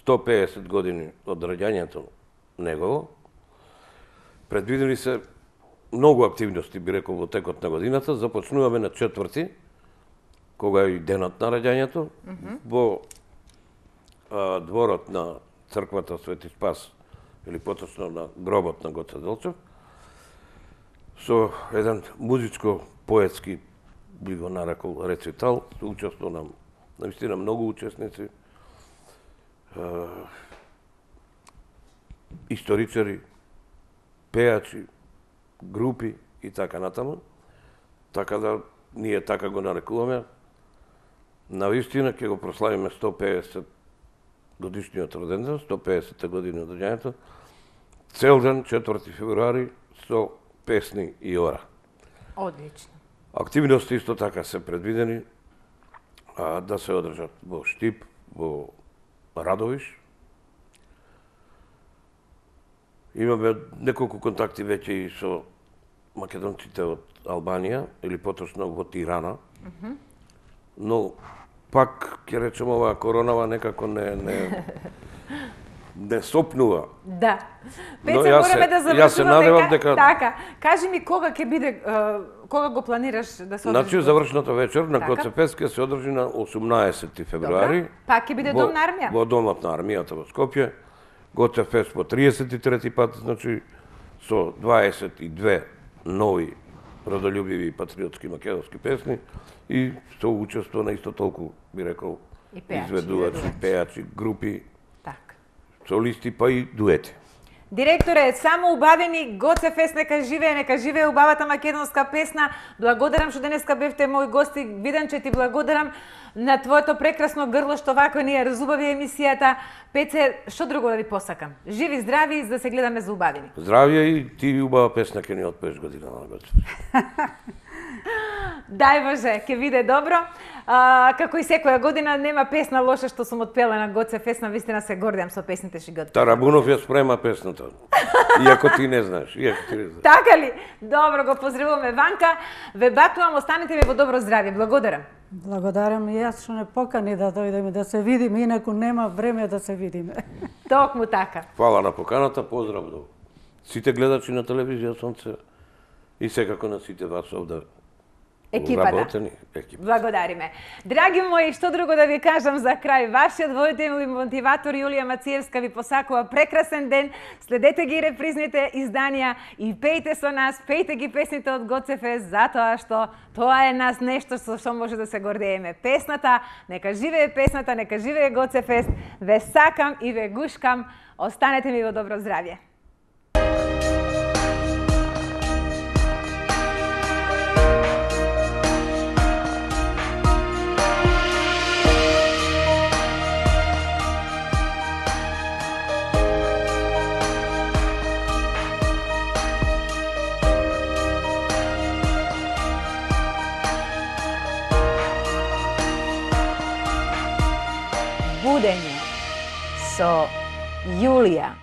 150 години од раѓањето негово, предвидени се многу активности, би рекол, во текот на годината. Започнуваме на 4-ти, кога е и денот на раѓањето, во дворот на црквата Свети Спас, или поточно на гробот на Гоце Делчев, со еден музичко-поетски, би го нарекол, рецитал, со учество на наистина многу учесници, историчари, пејачи, групи и така натаму. Така да ние така го нарекуваме. Навистина ќе го прославиме 150 годишниот роденден, 150 години од раѓањето, цел ден 4 февруари со песни и ора. Одлично. Активности исто така се предвидени да се одржат во Штип, во Радовиш. Имаме неколку контакти веќе и со македонците од Албанија, или поточно во Тирана. Но пак ќе речем оваа коронава некако не сопнува. Да. Пеце, мораме да завршуваме дека... Така. Кажи ми кога ќе биде, кога го планираш да се одржи? Значи, завршната вечер на ГОЦ-фест ќе се одржи на 18 февруари. Пак ќе биде Дом на армија? Во Домот на армијата во Скопје. ГОЦ-фест по 33 пат, значи, со 22 нови родолюбиви и патриотски македонски песни и со учество на исто толку, би рекол, изведувачи, пејачи, групи, солисти, па и дуети. Директоре, само убавени ГОЦ-фест, нека живее убавата македонска песна. Благодарам што денеска бевте мој гости. Виденче, ти благодарам на твоето прекрасно грло што вако ни ја разубави емисијата. Пеце, што друго да ви посакам? Живи, здрави, за да се гледаме за убавени. Здравје и ти убава песна ќе ни отпееш година на ГОЦ-фест. Дај Боже, ќе биде добро. Како и секоја година нема песна лоша што сум отпела на ГОЦ-фест, навистина се гордеам со песните што ги отпела. Тарабунов ја спрема песната. Иако ти не знаеш, Така ли? Добро, го поздравуваме Ванка. Ве бакнувам, останете ми во добро здравје. Благодарам. Благодарам и јас што не покани да дојдеме да се видиме, инаку нема време да се видиме. Токму така. Фала на поканата, поздрав до сите гледачи на телевизија Сонце и секако на сите вас овде. Екипата. Благодариме. Драги мои, што друго да ви кажам за крај? Вашиот водител и мотиватор Јулија Мациевска ви посакува прекрасен ден. Следете ги репризните изданија и пејте со нас, пејте ги песните од ГОЦ-фест, затоа што тоа е нас нешто со што може да се гордееме. Песната, нека живее песната, нека живее ГОЦ-фест. Ве сакам и ве гушкам. Останете ми во добро здравје. Будење со Јулија.